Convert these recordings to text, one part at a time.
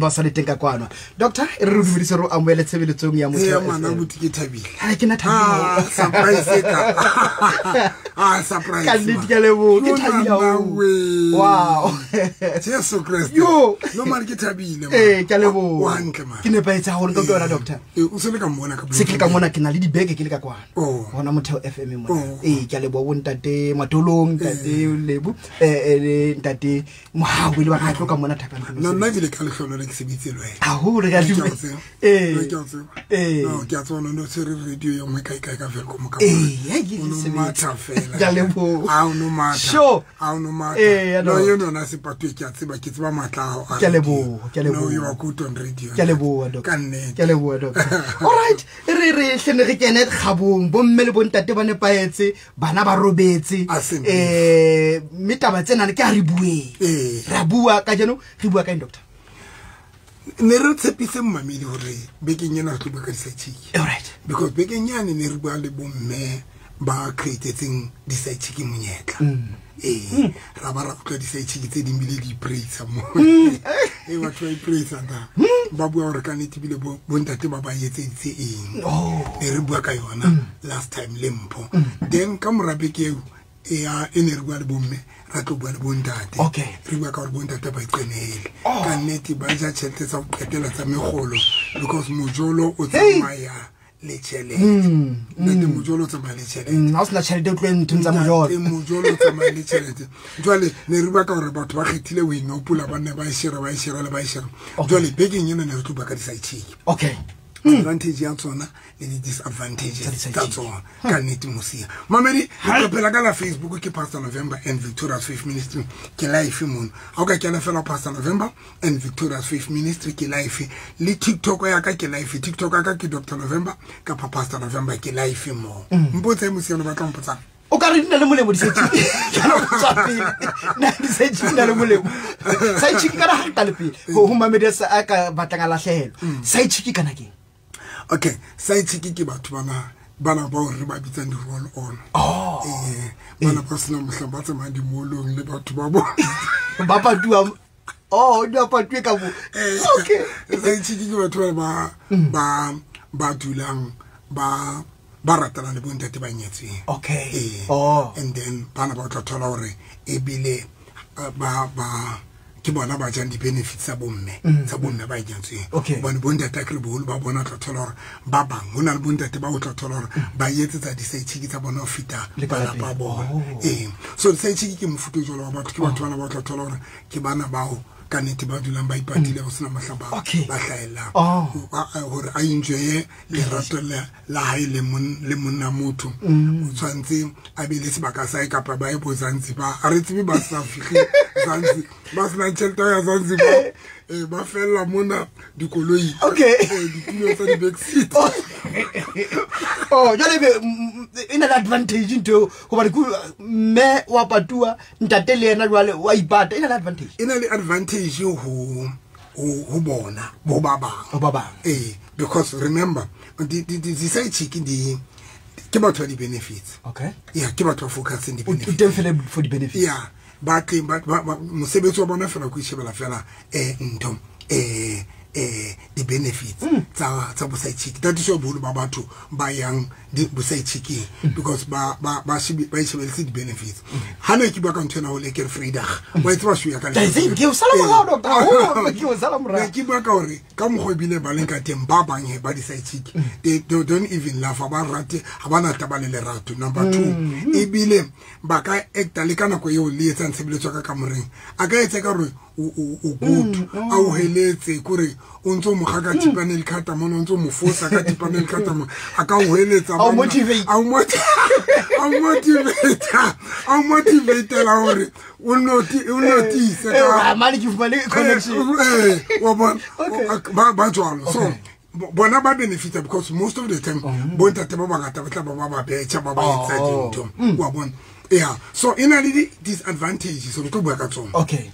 Ba sa le teng ka kwano. Doctor, e re re dumedise re o amohele tshebeletsong ya Motheo Ee, ngwana FM. buti ke thabile. Ha ke na thabile. Ah, surprise e ka. Ah, surprise. Ka nnete ke a leboha, ke thabile haholo. haholo. Wow. Jesu Christ. Yo. No man ke thabile. man. Ee, ke a leboha. O hantle man. Ke nepahetse haholo ka yona, doctor. Ee, o se le ka mmona ka Se ke le ka mona ke na le dibeke ke le ka kwana. Oh. Hona Motheo FM mona. Oh. Ee, ke a leboha bo ntate Matolong, ntate Lebo, le ntate Mohau le ba ka tlo ka mona thapang. Nna nna ebile ka lehlono le ke sebeditse le wena. Haholo re a Ke a o dumela. tseba. Ee. Ke a o tseba. Ee. No, ke a tseba no tshwere radio e nngwe kae kae ka Welkom ka Ee, mona. ha ke O no sebetsa. matha fela. Ke a leboha. Ha o no matha. Sure. Ha o no matha. Ee, ya No, no. eno yona sepatuwe ke a tseba, ke tseba matla a hao a Ke a radio. leboha, ke a No, leboha. you are good on radio. Ke a leboha, doctor. Ka nnete. Ke a leboha, doctor. All right, e re re hlene re kene kgabong, bomme le bontate ba nepahetse, bana ba robetse. A se nnete. Mme taba tsena ke a re bueng. Ee. Ra bua kajeno, re bua ka eng, doctor? Ne re tshepise mmamedi hore bekeng ena re tlo bua ka di-side chick. All right. Because bekeng yane ne re bua le bomme ba createtseng di-side chick monyetla. Ee, ra ba ra utlwa di-side chick tse ding bile di ipraisa mo. Ee, batho ba ipraisa ta. Ba bua hore ka nnete ebile bontate ba ba etseditse eng. Oh. Ne re bua ka yona last time le Mpho. Then ka mora beke eo, e ne re bua le bomme, ra tlo bua le bontate. Okay. Re bua ka hore bontate ba iqenehele. Oh. Ka nnete ba ja tjhelete tsa ho qetela tsa mekgolo because mojolo o Hey. tsamaya le tjhelete. Ntate, mojolo o tsamaya le tjhelete. Ha o sena tjhelete o tlohe nthong tsa mojolo. Ntate, mojolo o tsamaya le tjhelete. Jwale ne re bua ka hore batho ba kgethile ho inopola, ba nne ba e shera, ba e shera le ba e shera. Okay. Jwale bekeng ena ne re tlo bua ka di-side chick. Okay. Advantage ya tsona le di-disadvantages Tsa di-side tsa chick. tsona. Ka nnete mosia. Mamedi, re phela ka la Facebook ke Pastor November and Victoria's Faith Ministry ke live mono. Ha o ka kena fela Pastor November and Victoria's Faith Ministry ke live. Le TikTok ya ka ke live. TikTok ya ka ke Doctor November kapa Pastor November ke live mo. Mpotse mosia o batla mpotsang. O ka re di na le molemo di-side chick. Ke a lo tswa pele. Na di-side chick di na le molemo. Side chick kana ha re qale pele. Ho mamedi a sa a ka batlang a lahlehelwa. Side chick kana keng? Okay, side chick ke batho bana bao re ba bitsang di-roll on. Oh. Bana ba sena mohlang ba tsamayang di-mall-ong le batho ba bona. Ba patuwa. Oh, di a patuwe ka moo. Okay. Side chick ke batho ba ba dulang ba ratana le bontate ba nyetsweng. Okay. Oh. And then bana ba tla thola hore ebile ba ke bona ba jang di-benefits tsa bomme, tsa bomme ba nyetsweng. Okay. Hobane bontate akere boholo ba bona tla thola hore ba bang, ho na le bontate ba o tla thola hore ba etsetsa di-side chick tsa bona ho feta Le ka malapa a lapeng. bona. Oh. Ee. So di-side chick ke mofuta o jwalo wa batho, ke batho bana ba tla thola hore ke bana bao ka nnete ba dulang ba ipatile ho sena mohla Okay. ba hlahellang. Oh. Hore a enjoye lerato la hae le monna motho. O tshwanetse a be le sebaka sa hae kapa ba ye bo Zanzibar. Ha re tsebe ba sa fihle Zanzibar, ba sena tjhelete ya Zanzibar. Ba fella mona dikoloi. Okay. Ditulo tsa di-backseat. Oh. Oh, jwale ebe, e na le advantage ntho eo, hobane ke mme wa patuwa, ntate le yena jwale wa ipata, e na le advantage. E na le advantage ho bona, ho ba bang. Ho ba bang. Because remember, di-side chick ke batho ba di-benefits. Okay. Yeah, ke batho ba focusing O di-benefits. teng fela for di-benefits. Yeah, ba tleng, ba, mosebetsi wa bona fela ke ho ishebela fela, ntho, di-benefits tsa bo-side chick. That is why boholo ba batho ba yang bo-side chicking, because ba ishebeletse di-benefits. Ha ne ke bua ka ntho ena ho le ke re Vrydag. Wa e tseba show ya ka Ke a e tseba, ke o sala morao, doctor. Haholo, ke o sala morao. Ne ke bua ka hore ka mokgwa ebile ba leng ka teng, ba bang he ba di-side chick, they don't even love, ha ba rate, ha ba na taba le lerato. Number 2, ebile ba ka acta le ka nako eo le etsang tshebeletso ka kamoreng. A ka etsa ka hore o good, a o heletse, kore o ntso mo kga ka thipane le khata mona, o ntso mo fosa ka thipane le khata mona. A ka o heletsa A o monna. motivate. A o a o motivate, a o motivate-ela hore o o notice ka Mane ke fumane connection. Wa bona, Okay. ba jwalo. So, Okay. bona ba benefita because most of the time, bontate ba bangata ba tla ba ba ba betjha, ba ba etsa Oh. dintho. Wa bona. Yeah. So, e na le di-disadvantages, re tlo bua ka tsona. Okay.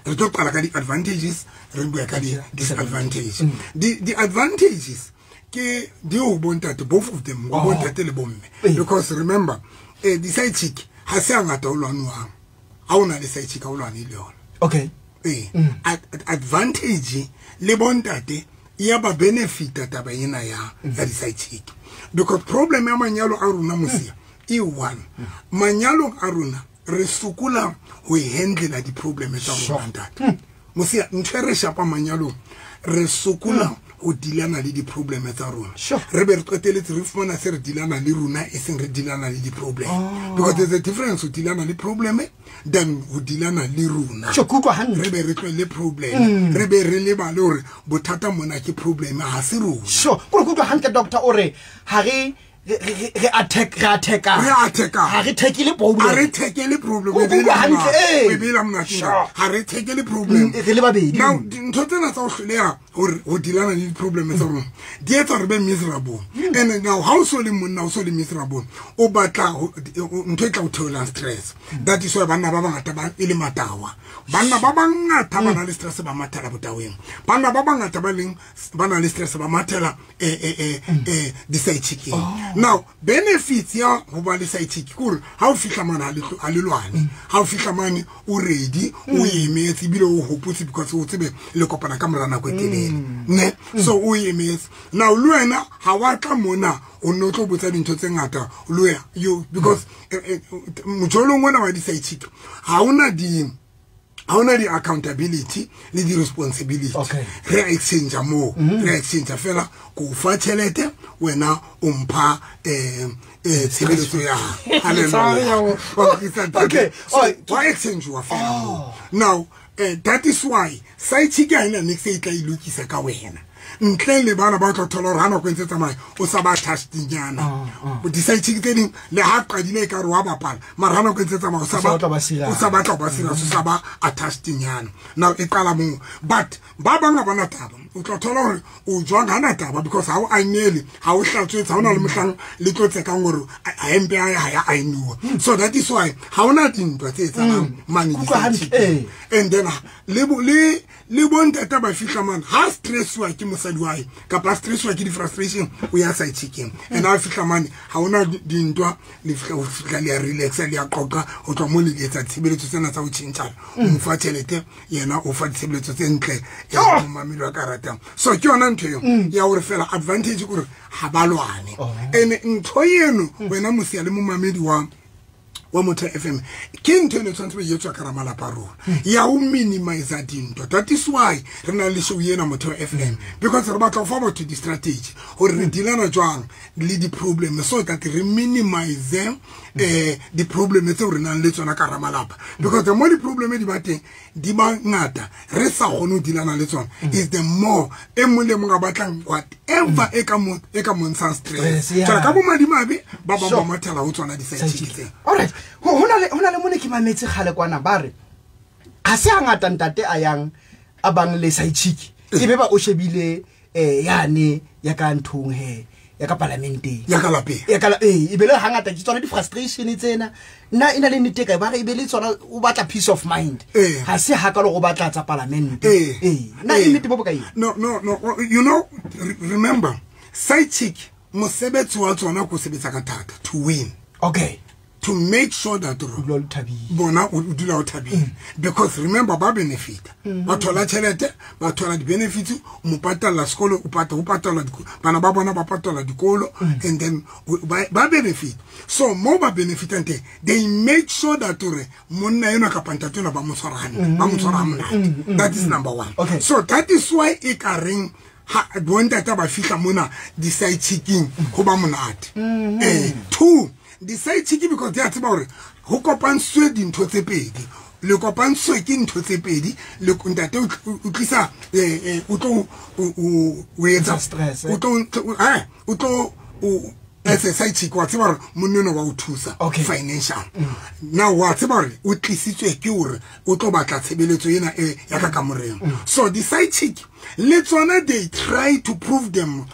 Re tlo qala ka di-advantages, re bua ka di-disadvantages. Di-advantages ke di ho bontate, both of them, ho Oh. bontate le bomme. Because remember, di-side chick ha se hangata o lwanuwang. Ha o na le side chick, ha o lwane le yona. Okay. Advantage le bontate ya ba benefita taba ena ya di-side chick, because problem ya manyalo a rona mosia e one. Manyalong a rona re sokola ho handle di-problem tsa rona ntate. Mosia ntho e re shapa manyalong, re sokola ho dilana le di-problem tsa rona. Re be re qeteletse re fumana se re dilana le rona, e seng re dilana le di-problem. Because there's a difference ho dilana le problem than ho dilana le rona. Re be re tlohelle problem, re be re lebale hore bothata mona ke problem ha se rona. Sure. Ko utlwa hantle doctor, o re ha re re attack re attack-a. Re attack-a. Ha re tackle problem. Ha re tackle problem. O utlwa hantle, eh. O bela monate. Ha re tackle problem. Re le babedi. Now ntho tsena tsa ho hloleha hore ho dilana le di-problem tsa rona di etsa hore be miserable. And now ha o so le monna, o so le miserable, o batla ntho e tla o theolang stress. That is why banna ba bangata ba e le matawa. Banna ba bangata ba na le stress ba mathela botaweng. Banna ba bangata ba leng ba na le stress ba mathela di-side chick-eng. Now benefits ya ho ba le side chick ke hore ha o fihla mane ha le lwane, ha o fihla mane o ready, o emetse ebile o hopotse because o tsebe le kopana ka mora nako e telele, ne? So o emetse. Now le wena ha wa tla mona o nno tlo botsa dintho tse ngata le wena you, because mojolong ona wa di-side chick ha ona di accountability le di-responsibility. Re exchange mo, re exchange fela ko fa tjhelete, wena o mpha tshebeletso ya hallelujah. Okay. So wa exchange wa fela mo. Now that is why side chick ha ena niks e tla e lokisa ka wena. Ntle le bana ba tlo thola hore ha nako e ntse tsamaya o sa ba touched-nyana. Di-side chick tse ding le ha qadile e ka re wa bapala, mara ha nako e ntse tsamaya o sa ba batla ba serious. O sa batla ba serious, o sa ba attached-nyana. Now e qala moo, but ba bang ha bana taba. O tla thola hore o jwang ha na taba because ha o ainele, ha o hlatswetse, ha ona le mohlang le tlo tsekang hore hempe ya ha ya ainuwa. So that is why ha ona dintwa tse etsahalang mane Utlwa di-side chick. Hantle, eh. And then le bontata ba fihla mane ha stresswa ke mosadi wa hae kapa stresswa ke di-frustration, o ya side chick-eng. And ha fihla mane ha ona dintwa, le fihla ho fihla le ya relaxa, le ya qoqa, ho tloha moo le etsa ditshebeletso tsena tsa ho tjhentjhana. O mo fa tjhelete, yena o fa ditshebeletso tse ntle ya momamedi wa ka ratang. So ke yona ntho eo ya hore fela advantage ke hore ha ba lwane. And ntho eno wena mosia le momamedi wa Motheo FM ke ntho eno e tshwanetse e etswa ka malapa a rona ya ho minimize dintwa. That is why re na le show ena Motheo FM, because re batla ho fa batho di-strategy hore re dealana jwang le di-problem so that re minimize di-problem tseo re nang le tsona ka hara malapa. Because the more di-problem di ba teng di ba ngata re sa kgone ho dealana le tsona, is the more e mong le mong a batlang whatever e ka mo ntshang stress. Stress, yeah. Jwale ka bomadimabe ba bang ba mathela ho tsona di-side chick tsena. All right. Ho na le mone ke mametse kgale kwana ba re ha se hangata ntate a yang a bang le side chick e be ba o shebile yane ya ka nthong he ya ka parlamenteng ya ka lapeng ya ka e be le hangata ke tsona di-frustration tsena nna e na le nnete kae ba re e be le tsona o batla peace of mind ha se hakalo go batla tsa parlamente nna e nnete bo bokae? No, no, no, you know, remember side chick mosebetsi wa tsona ko sebetsa ka thata to win. Okay. To make sure that bona o dula o thabile, because remember ba benefit, ba thola tjhelete, ba thola di-benefits, o mo patalla sekolo, o patalla bana ba bona ba patalla dikolo, and then ba benefit. So mo ba benefitang teng, they make sure that hore monna enwa kapa ntate enwa ba mo tshwara hantle, ba mo tshwara ha monate. That is number one. Okay. So that is why e ka reng ha bontate ba fihla mona di-side chick-eng ho ba monate. Two, di-side chick because di a tseba hore ho kopantswe dintho tse pedi, le kopantswe ke ntho tse pedi, le ntate o tlisa o tlo o etsa stress, o tlo o tlo o as a side chick wa tseba hore monna enwa wa o thusa financial. Now wa tseba hore o tlisitswe ke hore o tlo batla tshebeletso ena e ya ka kamoreng. So di-side chick Le tsona they try to prove them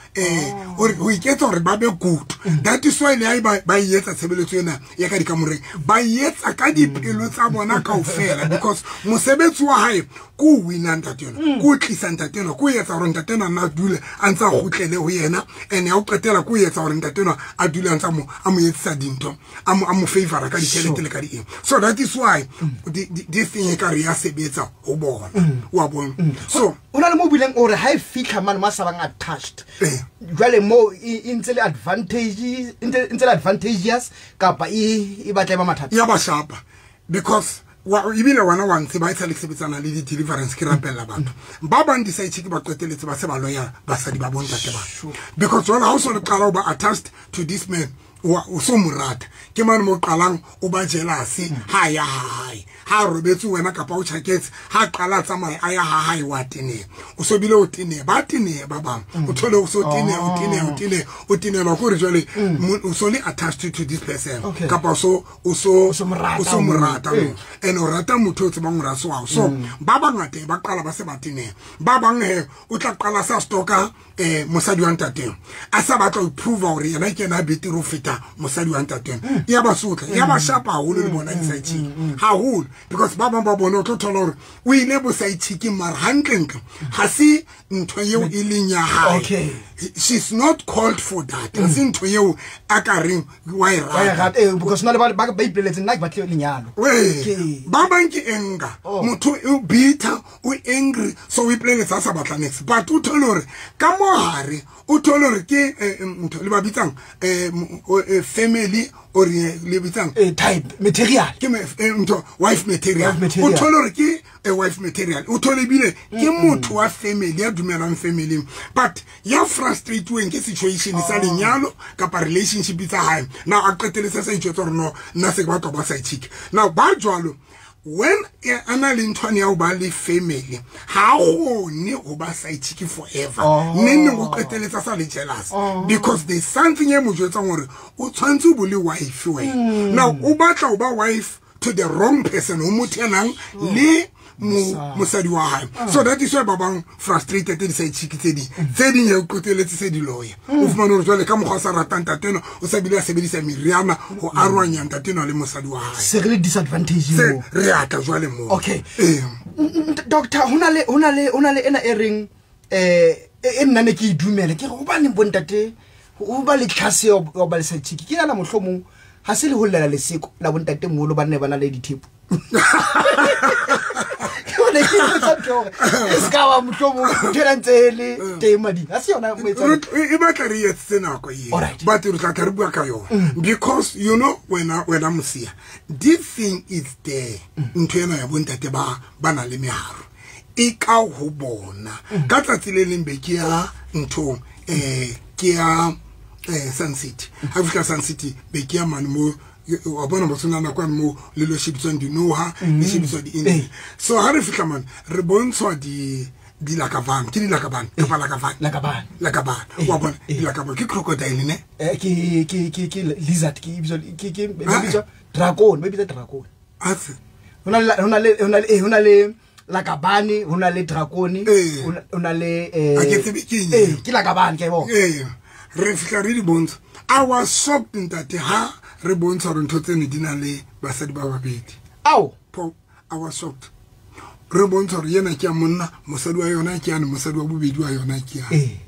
or ho iketsa hore ba be good. That is why le ba etsa tshebeletso ena ya ka dikamoreng, ba etsa ka dipelo tsa bona kaofela, because mosebetsi wa hae ko wina ntate yona, ko tlisa ntate yona, ko etsa hore ntate yona a dule a ntsa kgutlele ho yena, and ya o qetela ko etsa hore ntate yona a dule a ntsa mo a mo etsa dintho, a mo favor ka ditjhelete le ka di eng. So that is why this thing e ka re ya sebetsa ho bona, wa bona. So o na le mo bileng ore ha e fitlha mane ma sa bang attached, jwale mo e ntse le advantages, ntse le advantageous kapa e batla e ba mathata ya ba shapa, because wa ebile wena wa ntse ba etsa le sebetsana le di deliverance ke rapella batho ba bang di side chick ba qeteletse ba se ba loya basadi ba bontate ba, because jwale ha o so le qala o ba attached to this man, wa o so morata ke mane mo qalang o ba jealous, ha ya hae ha robetse wena kapa o tjhaketse, ha qala tsamaya a ya ha hae wa tene, o so bile o tene ba tene ba bang, o thole o so tene o tene o tene o tene la gore jwale o so le attached to this person, kapa so o so o morata and o rata motho o tsebang hore a so wa so ba bangata ba qala ba se ba tene ba bang he o tla qala sa stoka mosadi wa ntateng a sa batla ho prove hore yena ke yena betere ho feta mosadi wa ntateng, ya ba sotla ya ba shapa haholo le bona di-side chick haholo, because ba bang ba bona o tlo thola hore o ile bo side chick mara hantlentle ha se ntho eo e leng ya hae. She's not called for that. Ha se ntho eo a ka reng wa e rata, because na le ba ba ipoleletse nna ke batle lenyalo. Ba bang ke anger, motho o bitter, o angry, so o ipoleletsa a sa batla next, but o thole hore ka mohare o thole hore ke ntho le ba bitsang family or le bitsang type material, ke ntho wife material, o thole hore ke a wife material, o thole bile ke motho wa family ya dumelang family, but ya frustrated ke situation sa lenyalo kapa relationship tsa hae. Now a qeteletse sa itjwetsa hore no nna se ke batla ba side chick. Now ba jwalo when ana le nthwane ya ho ba le family ha kgone ho ba side chick forever, nne o qeteletsa sa le jealous, because there's something e mo jwetsang hore o tshwantse o bo le wife wena. Now o batla ho ba wife to the wrong person, o motho ya nang le mosadi wa hae. So that is why ba bang frustrated di side chick tse ding ya qeteletse se di loya, o fumane hore jwale ka mokgwa sa ratang ntate o sa bile a sebedisa meriana ho arohanya ntate le mosadi wa hae, se re le disadvantage mo re atla jwale mo. Okay, doctor, hona le ena e reng e nna ne ke idumele ke re hobane bontate ho ba le tlhase ya ba le side chick ke yana mohlomong ha se le ho llela leseko la bontate moholo ba nne ba na le dithepo. Because you know when I'm here, this thing is there. Ntho ena ya bontate ba na le meharo e ka ho bona ka tsatsi le leng be ke ya nthong ke ya Sun City. Ha fihla Sun City be ke ya mane mo wa bona motsona na kwa mo le lo shebiswang dinoha le shebiswa di eng. So ha re fihla mane re bontshwa di lakavan, ke di lakavan kapa lakavan lakavan wa bona di lakavan ke crocodile ne ke lizard ke ibitswa ke bitswa dragon, ba bitsa dragon. Atse hona le lakabane, hona le dracone, hona le a ke tsebe ke eng, ke lakabane ke bona. Re fihla re di bontsha. I was shocked ntate ha re bontsha hore ntho tsene di na le basadi ba babedi. Ao, I was shocked. Re bontsha hore yena ke ya monna, mosadi wa yona ke yane, mosadi wa bobedi wa yona ke yane.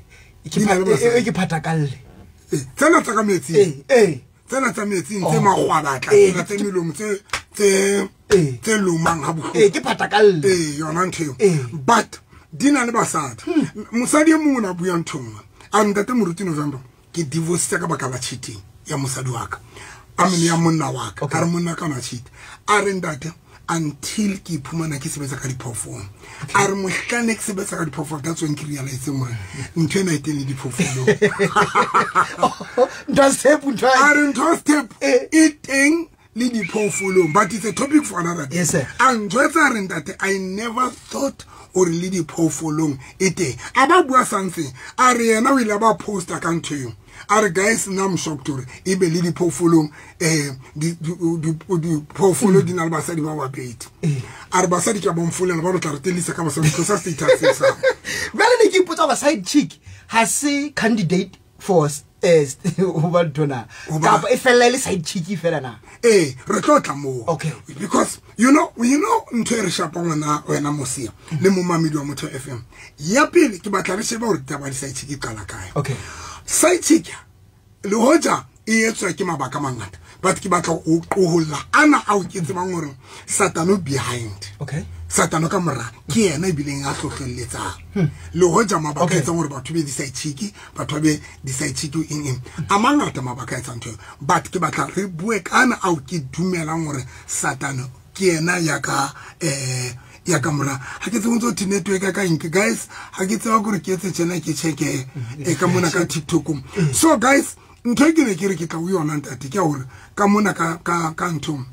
Ke phatakalle. Tsena tsa ka metsing. Tsena tsa metsing tse magwabatla, tsena tse melomo tse lomang ha bohloko. Ke phatakalle. Yona ntho eo. But di na le basadi. Mosadi e mong o na bua ntho nngwe. A ntate Moruti November ke divorce ka baka la cheating ya mosadi wa ka. A mene ya monna wa ka. A re monna ka na cheat. A re ntate until ke iphumana ke sebetsa ka diphoofolo. A re mohlane ke sebetsa ka diphoofolo, that's when ke realize hore ntho ena e teng le diphoofolong. Ntho step ntho. A re ntho step e teng le diphoofolong, but it's a topic for another day. Yes, sir. A njwetsa re ntate, I never thought or le diphoofolong e teng. A ba bua something, a re yena o ile ba poster ka ntho eo. A re guys, nna I'm shocked hore e be le diphoofolong diphoofolo di na le basadi ba babedi. A re basadi ke a bomfolela ba re tla re telisa ka basadi tlosa status sa. Jwale ne botsa gore side chick ha se candidate for ho ba ntho kapa e fella e le side chick fela na? Ee, re tlo tla moo. Okay. Because you know ntho e re shapang wena Mosia le momamedi wa Motho FM. Ya pele ke batla re shebe hore ditaba di side chick e qala kae. Okay. Side chick le hoja e etswa ke mabaka a mangata, but ke batla ho qoholla ana ao ke tsebang hore Satano behind. Okay. Satano ka mora ke yena e bileng a hlohlelletsang. Le hoja mabaka a etsang hore batho be di-side chick, batho be di-side chick eng eng. A mangata mabaka a etsang ntho eo, but ke batla re bue ka ana ao ke dumelang hore Satano ke yena ya ka ya ka mora. Ha ke tsebe ntse ho network ka eng, guys, ha ke tseba hore ke etse tjena ke check-e ka mona ka TikTok. So guys, ntho e ke ne ke re ke tla ho yona ntate ke hore ka mona ka ntho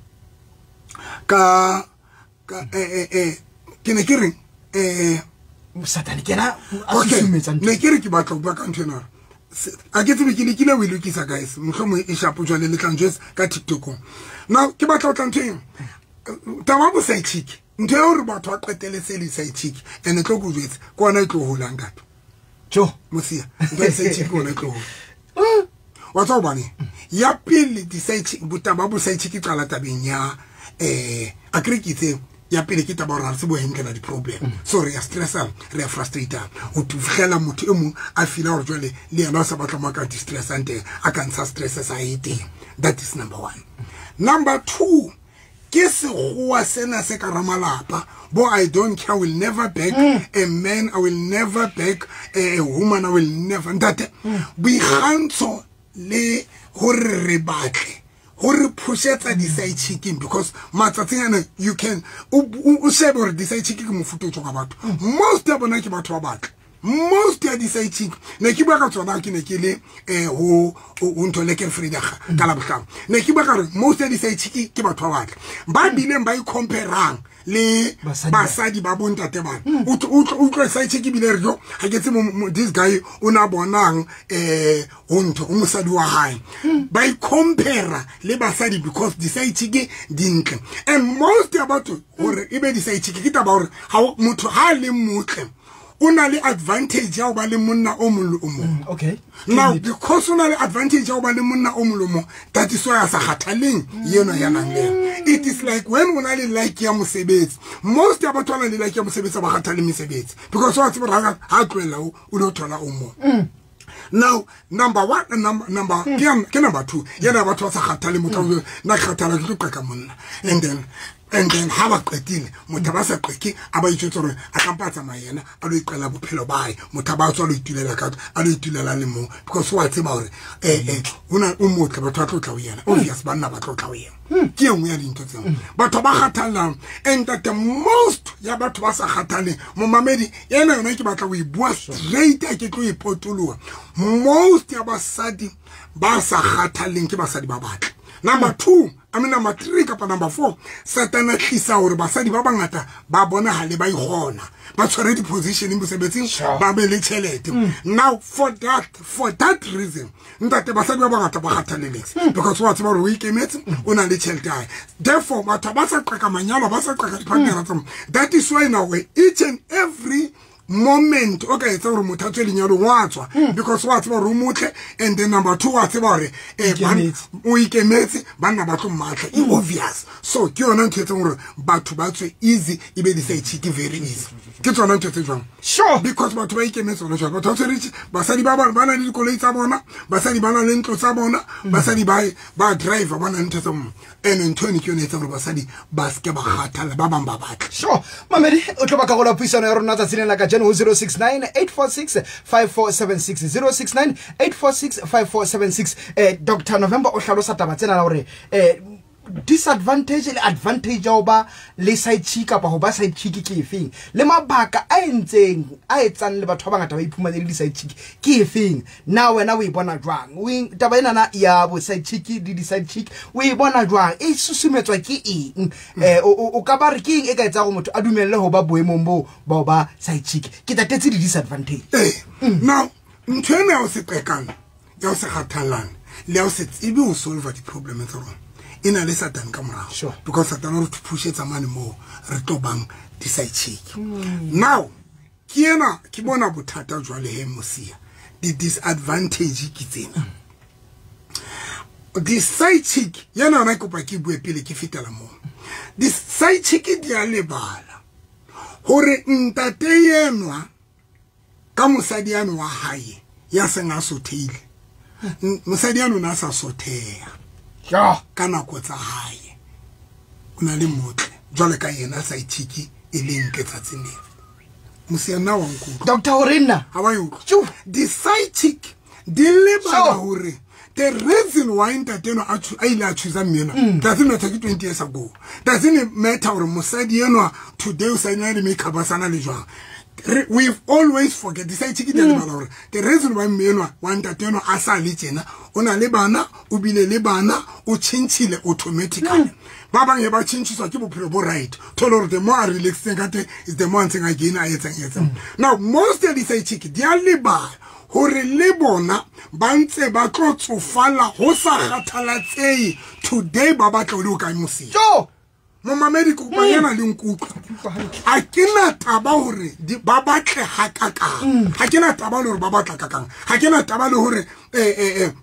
ka ke ne ke re Satane ke yena a susumetsa ntho. Ne ke re ke batla ho bua ka ntho ena. A ke tsebe ke lekile ho e lokisa guys, mohlomong e shapo jwale le tla njwetsa ka TikTok. Now ke batla ho tla ntho eng, taba bo side chick, ntho ya hore batho ba qetelletse le side chick and e tlo ko jwetsa ke ona e tlo holang kato. Jo Mosia, ntho ya side chick ke ona e tlo hola. Wa tswa hobane ya pele di-side chick, botaba bo side chick e qala tabeng ya a kere ke itse ya pele ke taba hore ha re tsebe ho handle di-problem. So re ya stressa, re ya frustrata. Ho fihlela motho e mong a feela hore jwale le yena o sa batla mo a ka distressang teng, a ka ntsha stress sa hae teng. That is number one. Number two, ke sekgowa sena se ka ramalapa bo I don't care, I will never back a man, I will never back a woman, I will never. Ntate, boikgantsho le hore re batle hore pushetsa di-side chicking, because matsatsing ana you can o shebe hore di-side chick ke mofuta o tswa ka batho. Most ya bona ke batho ba batle. Most ya di-side chick ne ke bua ka tsona ke ne ke le ho ntho le ke Frida ka la bohlano. Ne ke bua ka hore most ya di-side chick ke batho ba batle ba bileng ba i-comparang le basadi ba bontate bana. O utlwe side chick ebile re jo ha ke tsebe this guy o na bonang ho ntho o mosadi wa hae. Ba i-compare le basadi because di-side chick di ntle. And most ya batho hore e be di-side chick ke taba hore ha motho ha le motle o na le advantage ya ho ba le monna o mong le o mong. Okay. Now because o na le advantage ya ho ba le monna o mong le o mong, that is why a sa kgathaleng yena ya nang le yena. It is like when o na le like ya mosebetsi. Most ya batho ba nang le like ya mosebetsi ba kgathale mesebetsi because wa tseba hore ha tlohella o lo thola o mong. Now number one and number ke number two, yena batho ba sa kgathale motho na kgathala ke tlo qeka monna. And then ha ba qetile motho ba sa qeke a ba itjwetsa hore a ka mpa tsamaya yena a lo iqela bophelo ba hae, motho ba tswa lo itulela ka a lo itulela le mo because wa tseba hore hona o motle batho ba tlo tla ho yena. Obvious banna ba tlo tla ho yena. Ke e nngwe ya dintho tseo batho ba kgathallang. And that the most ya batho ba sa kgathaleng momamedi yena yona ke batla ho e bua straight, a ke tlo e potoloha. Most ya basadi ba sa kgathaleng ke basadi ba batle. Number two, I mean number three kapa number four, Satana tlisa hore basadi ba bangata ba bonahale ba ikgona, ba tshwere di-position mosebetsing, ba be le tjhelete. Now for that reason, ntate basadi ba bangata ba kgathaleletse because wa tseba hore o ikemetse, o na le tjhelete ya hae. Therefore batho ba sa qeka manyalo, ba sa qeka di-partner tsa bona. That is why now each and every moment o ka etsa hore motho a tswe lenyalong wa tswa because wa tseba hore o motle, and then number two wa tseba hore o ikemetse, banna ba tlo mmatla, e obvious. So ke yona ntho e etsang hore batho ba tswe easy, e be di-side chick very easy. Ke tsona ntho tse jwang. Sure. Because batho ba ikemetse hona jwale, batho ba tshwere basadi ba ba na le dikoloi tsa bona, basadi ba na le ntlo tsa bona, basadi ba driver ba na le ntho tsa bona. And ntho eno ke yone e etsang hore basadi ba seke ba kgathala, ba bang ba batla. Sure. Mamedi, o tlo ba karolo ya puisano ya rona tsatsing lena la kajeno ho 069 846 5476, 069 846 5476. Dr. November o hlalosa taba tsena la hore disadvantage le advantage ya ho ba le side chick kapa ho ba side chick ke efeng, le mabaka a entseng a etsang le batho ba bangata ba iphumane le di-side chick ke efeng. Na wena o e bona jwang taba enana ya bo side chick le di-side chick, o e bona jwang, e susumetswa ke eng? O ka ba re ke eng e ka etsang hore motho a dumelle ho ba boemong boo ba ho ba side chick? Ke tatetse di-disadvantage. Now ntho ena ya ho se qekana, ya ho se kgathallane le ya ho se tsebe ho solve di-problem tsa rona e na le Satan ka morao. Sure. Because Satan o re pushetsa mane moo re tlo bang di-side chick. Now Ke ena ke bona bothata jwale he mosia. The disadvantage ke tsena. The side chick yena ona kopa ke bue pele ke fetela mo. The side chick di a lebala hore ntate yenwa ka mosadi yano wa hae ya seng a sotheile. Mosadi yano na sa sotheya. Ja, ka nako tsa hae. O na le motle jwale ka yena side chick e leng ke tsatsing leo. Mosia na wa nkutlwa. Doctor Orena. Ha wa utlwa. The side chick di lebala hore the reason why ntate no a ile a choose mmena doesn't matter ke 20 years ago. Doesn't matter hore mosadi enwa today o sa ina le makeup a sana le jwang. We've always forget the side chick di lebala hore the reason why mmenwa wa ntate no a sa le tjena o na le bana o bile le bana o tshintshile automatically. Ba bang e ba tshintshitswa ke bophelo bo right. Thola hore the more a relaxing ka teng is the more ntseng a gain a etsang. Now most of the side chick di a lebala hore le bona ba ntse ba tlo tsofala ho sa kgathalatsehe today ba batla o le o kae mosia. Momamedi kopa yena le nkutlwa. A ke na taba hore ba batle hakakang. Ha ke na taba le hore ba batla kakang. Ha ke na taba le hore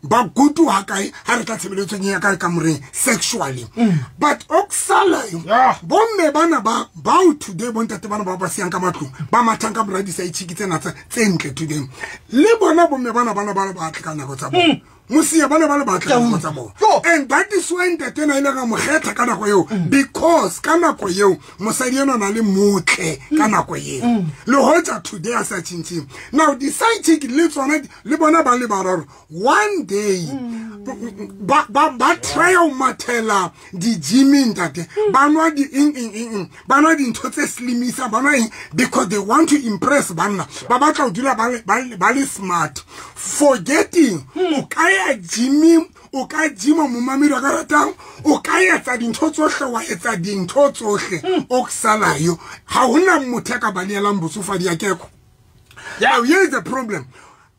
ba gutu hakae ha re tla tshebeletsong ya ka kamoreng sexually. But oksala bomme bana ba bao today bontate bana ba ba siyang ka matlong ba mathang ka mora di side chick tsena tse ntle today. Le bona bomme bana bana ba batle ka nako tsa bona. Mosia bana ba le batla ka tsa bona. And that is why ntate na ile ga mo kgetha ka nako eo because ka nako eo mosadi ena na le motle ka nako eo. Le hoja today a sa tshintshing. Now the side chick le tsona le bona ba le bararo one day ba try ho mathela di gyming ntate ba nwa di eng ba nwa dintho tse slimisa ba nwa eng because they want to impress banna ba batla ho dula ba le smart forgetting o ka ya gyming o ka gyma momamedi wa ka ratang o ka etsa dintho tsohle wa etsa dintho tsohle o ksalayo ha hona motho a ka baleelang botsofadi ya keko. Now here is the problem.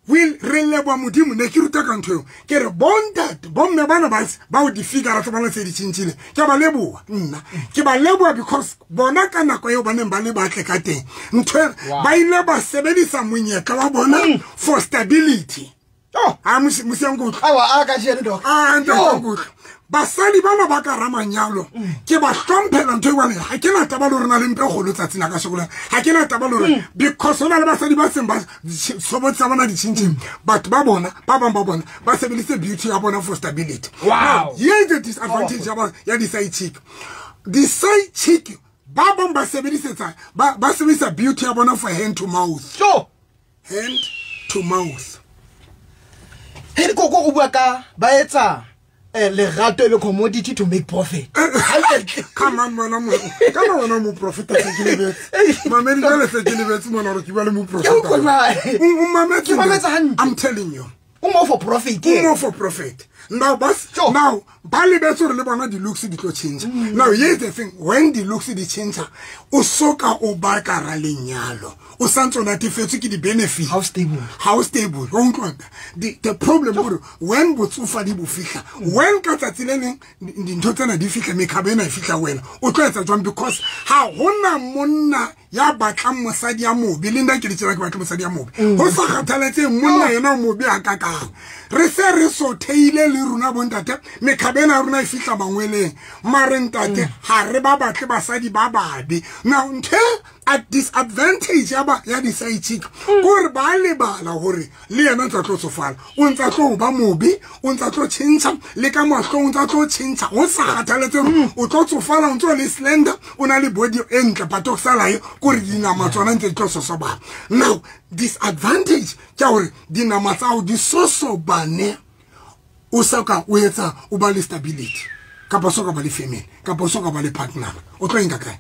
We re leboha modimo ne ke ruta ka ntho eo ke re bontate bomme bana ba o di figure tsa bona tse di tshintshile ke ba leboha nna ke ba leboha because bona ka nako eo ba neng ba le batle ka teng ntho ba ile ba sebedisa monyetla wa bona for stability. Oh, a mosiango awa a ka jeno doc. Ah, ntate basadi bana ba ka ramanyalo ke ba hlomphela ntho e bana ha ke na taba le rona le mpe kgolo tsatsi la ka sokola ha ke na taba le rona because hona le basadi ba seng ba sobotsa bona ditshintshing batho ba bona ba bang ba bona ba sebedise beauty ya bona for stability. Wow. Here is the disadvantage ya di side chick. The side chick ba bang ba sebedisetsa ba sebedisa beauty ya bona for hand to mouth. Sure. Hand to mouth. He ko go bua ka ba etsa lerato e be commodity to make profit. Come on mona mo ka mona mo profit se ke lebetse. Mamedi jale se ke lebetse mona hore ke bua le mo profit. O mametse hantle. I'm telling you. O mo for profit. O mo for profit. Now bas now ba lebetse hore le bona di looks di tlo change. Now here's the thing, when the looks di change o soka o ba ka ra lenyalo. O santse o natefetswe ke di benefit. How stable? How stable? O utlwa the problem hore when botsofadi bo fihla when ka tsatsi le leng dintho tsena di fihla mekgabo ena e fihla wena o tlo etsa jwang because ha hona monna ya batlang mosadi ya mobe le nna ke le tsela ke batla mosadi ya mobe ho sa kgathaletse monna yena o mobe a kakang re se re sotheile le rona bontate mekgabo ena ya rona e fihla mangweleng mare ntate ha re ba batle basadi ba babe. Now ntho at disadvantage ya di side chick kore ba lebala hore le yena ntsa tlo tsofala o ntsa tlo ba mobe o ntsa tlo tjhentjha le ka mahlong o ntsa tlo tjhentjha ho sa kgathaletse o tlo tsofala o ntso le slender o na le body e ntle but o salayo kore dinama tsona ntse di tlo sosobana. Now disadvantage ke hore dinama tsa hao di sosobane o soka o etsa o ba le stability kapa soka ba le family kapa soka ba le partner o tlo enka kae?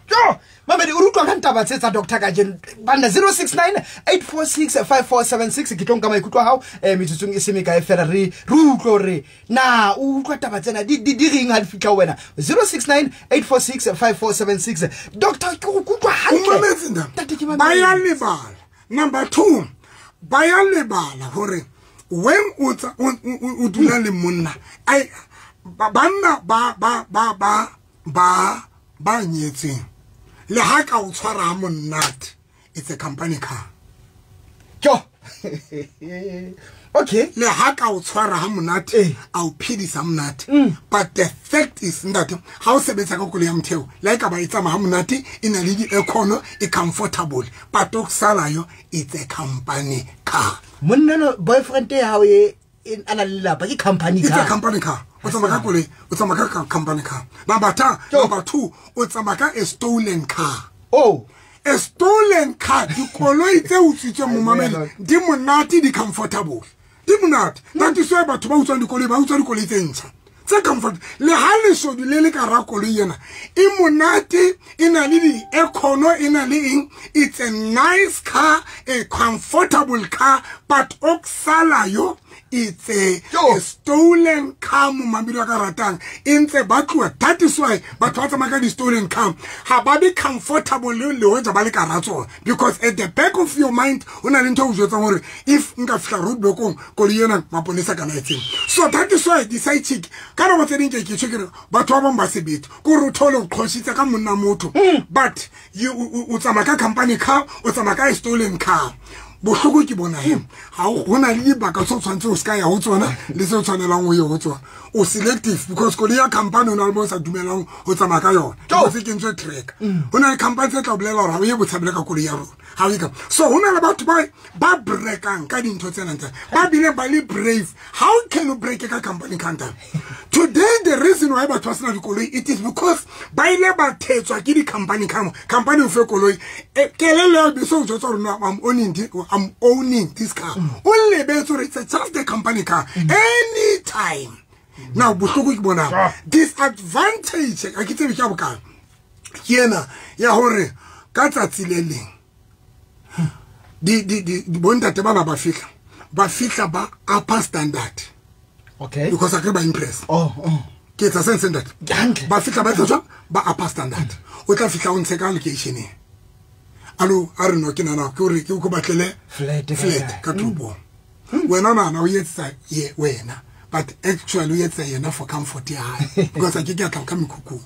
Jo, mamedi o utlwa ka ntaba tse tsa doctor ka jeno bana 069 846 5476 ke tlo nka maikutlo a hao metsotsong e se mekae fela re utlwe hore na o utlwa taba tsena di reng ha di fihla ho wena 069 846 5476. Doctor ke go kutlwa hantle ba ya lebala. Number 2 ba ya lebala hore when o dula le monna ai banna ba ba ba ba ba ba nyetseng le ha ka o tshwara ha monate It's a company car. Jo. Okay. Le ha ka o tshwara ha monate, a o phedisa monate. But the fact is that ha o sebetsa ka koloi ya motheo, le ka ba e tsamaya ha monate, e na le di-aircon, e comfortable. But o sala yo, it's a company car. Monna no boyfriend ya hao e ana le lelapa ke company car. It's a company car. O tsamaya ka koloi, o tsamaya ka company car. Number 2, o tsamaya ka a stolen car. Oh. A stolen car, dikoloi tse utswitsweng momamedi, di monate, di comfortable. Di monate. That is why batho ba utswang dikoloi, ba utswa dikoloi tse ntjha. Tse comfort. Le ha leshodu le le ka ra koloi ena, e monate, e na le di-aircon, e na le eng. It's a nice car, a comfortable car, but o sala yo, it's a stolen car momamedi wa ka ratang. E ntse ba tloha. That is why batho ba tsamaya ka di-stolen car. Ha ba be comfortable le hoja ba le ka ra tsona. Because at the back of your mind, ho na le ntho e o jwetsang hore if nka fihla roadblock-ong, koloi ena maponesa kana etseng. So that is why di-side chick, ka nako tse ding ke tjho ke re batho ba bang ba sebete. Ke hore o thole o qhoshitse ka monna motho. But you o tsamaya ka company car, o tsamaya ka stolen car. Bohloko ke bona he ha ho na le dibaka tse o tshwanetse o ska ya ho tsona le tse o tshwanelang ho ye ho tsona. O selective because koloi ya company o na le mo sa dumelang ho tsamaya ka yona. Because e kentswe track. Ho na le company tse tla bolela hore ha o ye botshabele ka koloi ya rona. Ha o ye ka. So ho na le batho ba breakang ka dintho tsena tsa. Ba bile ba le brave. How can you break ka company counter? Today the reason why batho ba sena dikoloi, it is because ba ile ba thetswa ke di-company car. Company o fe koloi. Kelello ya bese o jwetsa hore no, I'm owning this car. Only it's just the company car. Anytime. Now, bohloko ke bona. Disadvantage, a ke tsebe ke ya bokae. Ke ena ya hore ka tsatsi le leng di bontate bana ba fihla ba upper standard. Okay. Because I ke ba impress. Oh. Ke etsa sense ntate. Ba fihla ba etsa jwang? Ba upper standard. O tla fihla o ntshe ka location. Alo, a re no ke nana ke hore ke o batlele flat ka toropong. Wena nana o etsa ye wena, but actually o etsa yena for comfort ya hae because a ke ke tla ka mekhukhung.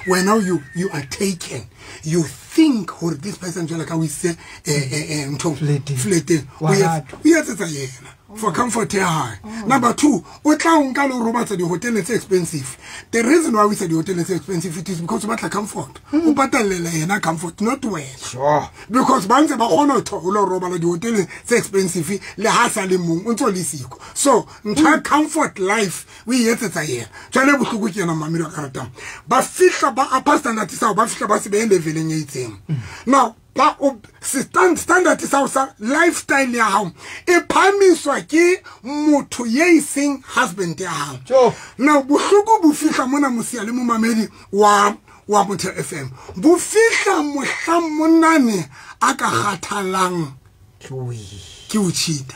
Wena you are taken. You think hore this person jwale ka o ise ntho flat o etsa yena for comfort ya hae. Number 2, o tla o nka le o robatsa di-hotel tse expensive. The reason why we say di-hotel tse expensive, it is because o batla comfort. O patallela yena comfort, not wena. Sure. Because ba ntse ba kgona ho lo robala di-hotel tse expensive le ha sa le mong o ntso le siko. So ntho ya comfort life o e etsetsa yena. Jwale bohloko ke yena mamedi wa ka ratang. Ba fihla ba upper standard sa ba fihla ba se be leveleng e itseng. Now ba o standard sa sa lifestyle ya hao e phamiswa ke motho ye iseng husband ya hao. Now bohloko bo fihla mona mosia le momamedi wa Motheo FM. Bo fihla mohla monane a ka kgathalang ke o cheat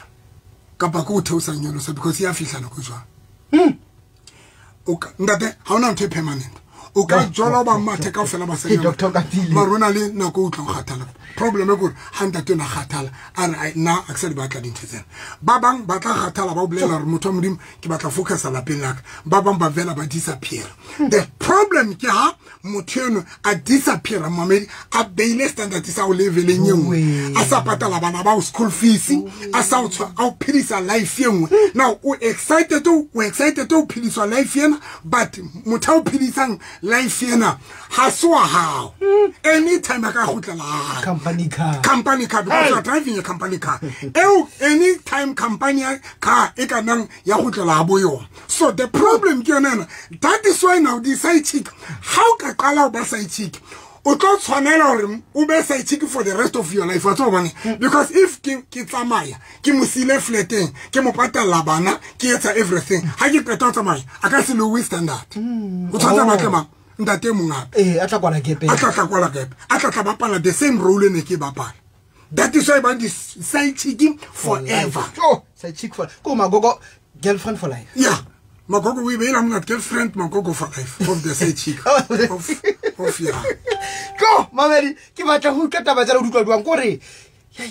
kapa ke o theosa nyolosa because ya fihla nako jwang. O ka ntate ha ona ntho e permanent. O ka jola ba mathe kaofela ba senya. Mara o na le nako o tla kgathala. Problem e kore ha ntate ona kgathala a re nna a ke sa di batla dintho tsena. Ba bang ba tla kgathala ba o bolela hore motho wa Modimo ke batla focusa lapeng la ka. Ba bang ba vela ba disappear. The problem ke ha motho eno a disappear mamedi a beile standard sa o leveleng e nngwe. A sa patala bana ba o school fees, a sa o a o phedisa life e nngwe. Now o excited o phediswa life ena, but motho o phedisang life ena ha se wa hao. Anytime a ka kgutlela company car because you are driving a company car. Anytime company car e ka nang ya kgutlela ha bo yona. So the problem ke yona ena. That is why now the side chick, how ka qala ho ba side chick, o tlo tshwanela hore o be side chick for the rest of your life. Wa tseba hobane? Because if ke tsamaya ke mo sile flateng, ke mo patalla bana, ke etsa everything, ha ke qeta ho tsamaya a ka se lowe standard. O tshwanetse batle mang ntate mong hape. A tla kwala gepe. A tla kwala gepe. A tla bapala the same role ne ke bapala. That is why ba di side chick forever. Oh, side chick for ko magogo girlfriend for life. Yeah. Magogo we be I'm not girlfriend, magogo for life of the side chick. Of yeah. Go, mamedi, ke batla ho utlwa taba tsa le utlwa jwang kore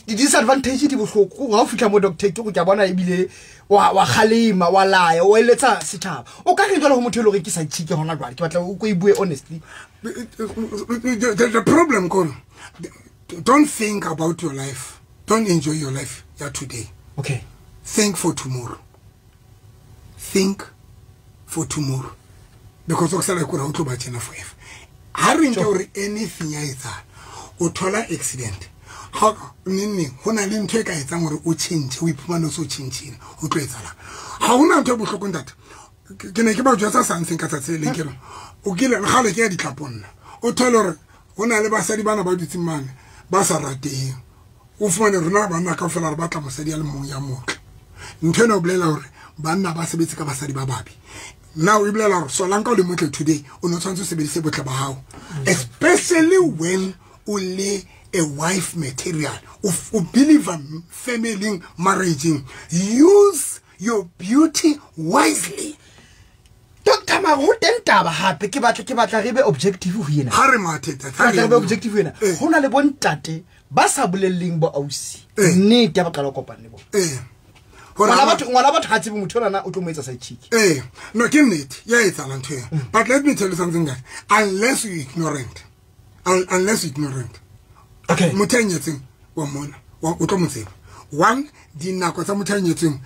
di disadvantage di bohloko ha o fihla mo doctor ke go ke bona ebile wa kgalema wa laya o eletsa setjhaba. O ka re jwale ho motho e le hore ke side chick hona jwale ke batla o ko e bue honestly. The problem kore Don't think about your life. Don't enjoy your life ya today. Okay. Think for tomorrow. Think for tomorrow. Because o sala kore o tlo ba tjena forever. Ha re nke hore anything ya etsahala, o thola accident. Ha nne ho na le ntho e ka etsang hore o change, o iphumane o so change, o tlo etsahala. Ha hona ntho e bohloko ntate. Ke ne ke ba jwetsa something ka tsatsi le leng ke re o kile kgale ke ya ditlhapong nna. O thole hore ho na le basadi bana ba dutseng mane ba sa rateng. O fumane rona banna kaofela re batla mosadi a le mong ya motle. Ntho ena o bolela hore banna ba sebetse ka basadi ba babe. Now e bolela hore solanka o le motle today, o no tshwanetse o sebedise botle ba hao. Especially when o le a wife material, o believe in family marriage. Use your beauty wisely. Doctor Mara, ho teng taba hape ke batla re be objective ho yena. Ha re mathe tata. Re be objective ho yena. Ho na le bontate ba sa bolelleng bo ausi. Nnete ba qala kopana le bona. Ngwana batho ha tsebe motho ona o tlo mo etsa side chick. No ke nnete ya etsahala ntho eo. But let me tell you something guys. Unless you ignorant. Unless you ignorant. Okay. Motho a nyetseng wa mona, o tlo mo tseba. One, dinako tsa motho a nyetseng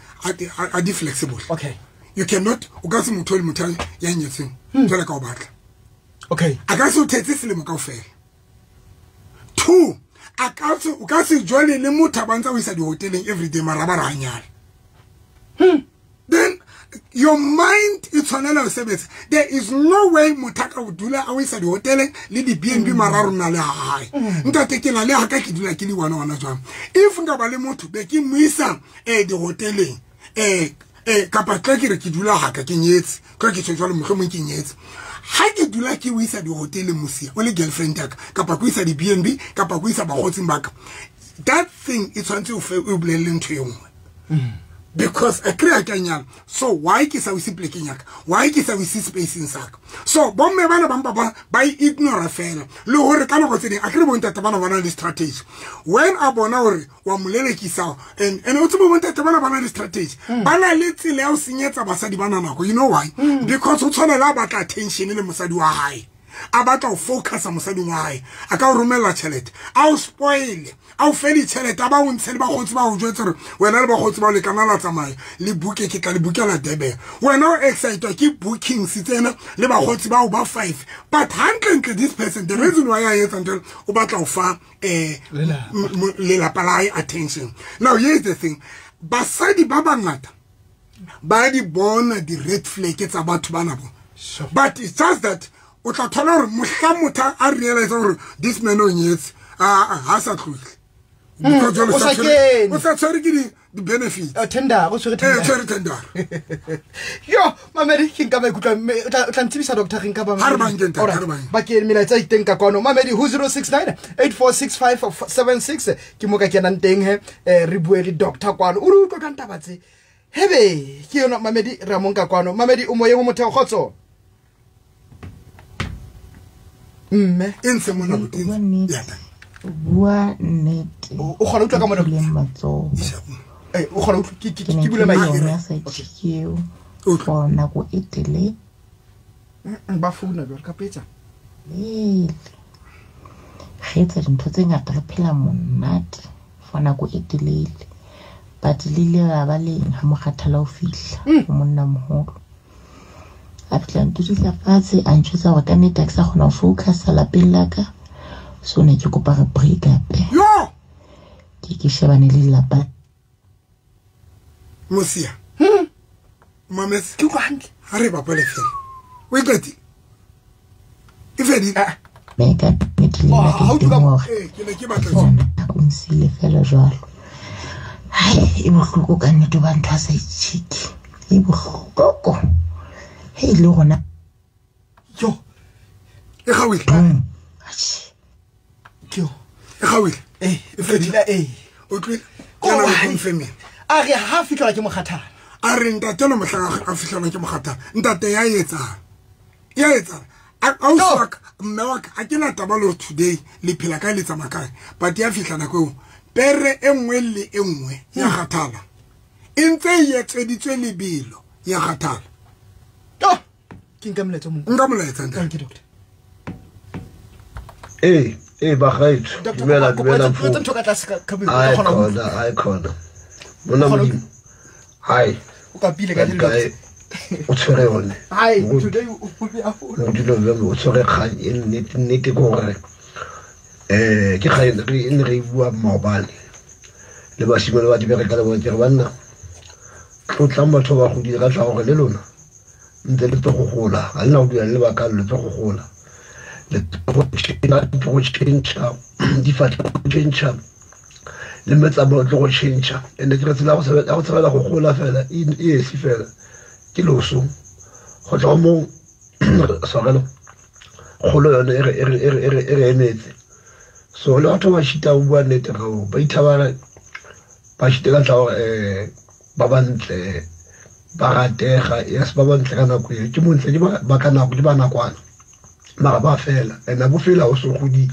a di flexible. Okay. You cannot, o ka se motho le motho ya nyetseng jwale ka o batla. Okay. A ka se o thetse selemo kaofela. Two, a ka se o ka se jwale le motho a bantsa o isa dihoteleng every day mara ba ra nyala. Then your mind e tshwanela ho sebetsa. There is no way motho a ka o dula a o isa dihoteleng le di B&B mara rona le hae. Ntate ke na le ha ka ke dula ke le one ona jwang. If nka ba le motho be ke mo isa dihoteleng kapa tla ke re ke dula ha ka ke nyetse ka ke tjho jwalo mohlomong ke nyetse. Ha ke dula ke o isa dihoteleng mosia o le girlfriend ya ka kapa ke o isa di B&B kapa ke o isa bakgotsing ba ka, that thing e tshwanetse o fe o bolelle ntho e nngwe. Because a kry-a ke a nyala. So why ke sa o ise plekeng ya ka? Why ke sa o ise spaceng sa ka? So bomme bana ba mpa ba ignore fela. Le hore ka nako tse ding a kry bontate bana ba na le strategy. When a bona hore wa mo lelekisa and o tsebe bontate bana ba na le strategy. Ba na le tsela ya ho senyetsa basadi bana nako. You know why? Because o tshwanela a batla attention le mosadi wa hae. A batla ho focusa mosading wa hae. A ka o romella tjhelete. A o spoil. A o fe ditjhelete, a ba o ntshe le bakgotsi ba o jwetse hore wena le bakgotsi ba o lekana la tsamaya le buke ke tla le bukela Durban. Wena o excitwa ke bookings tsena le bakgotsi ba o ba 5. But hantlentle this person, the reason why a etsa ntho o batla ho fa lelapa la hae attention. Now here is the thing. Basadi ba bangata ba di bona di red flag tsa batho bana bo. But it's just that o tla thola hore mohla motho a realize hore this man o nyetse ha sa tlohle. Because o sa tshwere ke di benefits. Tender, o tshwere tender. Tshwere tender. Yo, Mamedi ke nka maikutlo o tla ntsebisa doctor re nka ba. Ha re banke ntate, ha re banke. Ba ke melaetsa iteng ka kwano. Mamedi ho 069 846576 ke mo ka kenang teng he re bue le doctor kwano. O re utlwa ka ntaba tse. Hebe ke yona Mamedi re mo nka kwano. Mamedi o moyeng o motheo kgotso. Mme e ntse mona boteng. Ya. Bua nnete. O kgona utlwa ka mona matsoho. O kgona utlwa ke bule mic. Okay. For nako e telele. Ba founa jwale ka petsa. Re etsa dintho tse ngata re phela monate for nako e telele. But le ile la ba leng ha mokgathala o fihla ho monna moholo. A fihla ntudisa fatshe a ntjwetsa hore ka nnete ha ke sa kgona ho focusa lapeng la ka. So ne ke kopa re break up. Yo! Ke shebane le lelapa. Mosia. Mames. Ke utlwa hantle. Ha re bapale fela. O e qetile? E fedile? Mme ka nnete le nna ke teng hore ke ne ke batla jwang. O nsile fela jwalo. Hai, e bohloko ka nnete ba ntho a sa itjhiki. E bohloko. Hei le rona. Yo. E gauile. Atjhe. Ke E gauile. E fedile O tlwile. Ke na le confirm. A re ha fitlhelwa ke mokgathala. A re ntate lo mohlang a fihlelwa ke mokgathala. Ntate ya etsang. Ya etsang. Ausi wa ka, mme wa ka, ha ke na taba le today le phela kae le tsamaya kae. But ya fihla nako eo pere e nngwe le e nngwe ya kgathala. E ntse e etseditswe lebelo ya kgathala. Ke nka molaetsa o mong. Nka molaetsa ntate. Thank you doctor. Ee bagaetsho, dumela dumela mfo. Ntho ka tlase ka Ai khona, ai khona. Monna Modimo. Hai. O kapile ka dilo. O tshwere yone. Hai, today o be a fola. Modimo o tshwere kgang e nnete nnete ke gore ke kgang e ne re bua maobane. Le basimane ba di bereka le bone ke re banna. Tlotlang batho ba godile ka tla gore le lona ntse le tlo go gola. Ga lena go dula le lebaka le tlo go gola. Le go change difatla go change le metsamao tlo go change and ke re tsela ya go tshabela go gola fela e esi fela ke loso go tloga mo tshwarelo kgolo yone e re emetse. So le batho ba šita go bua nnete gao ba ithabana ba šite ka tla gore ba bantle ba ratega yes ba bantle ka nako eo ke montle ke ba ka nako ke ba nakwana mara ba fela and bo fela o se godile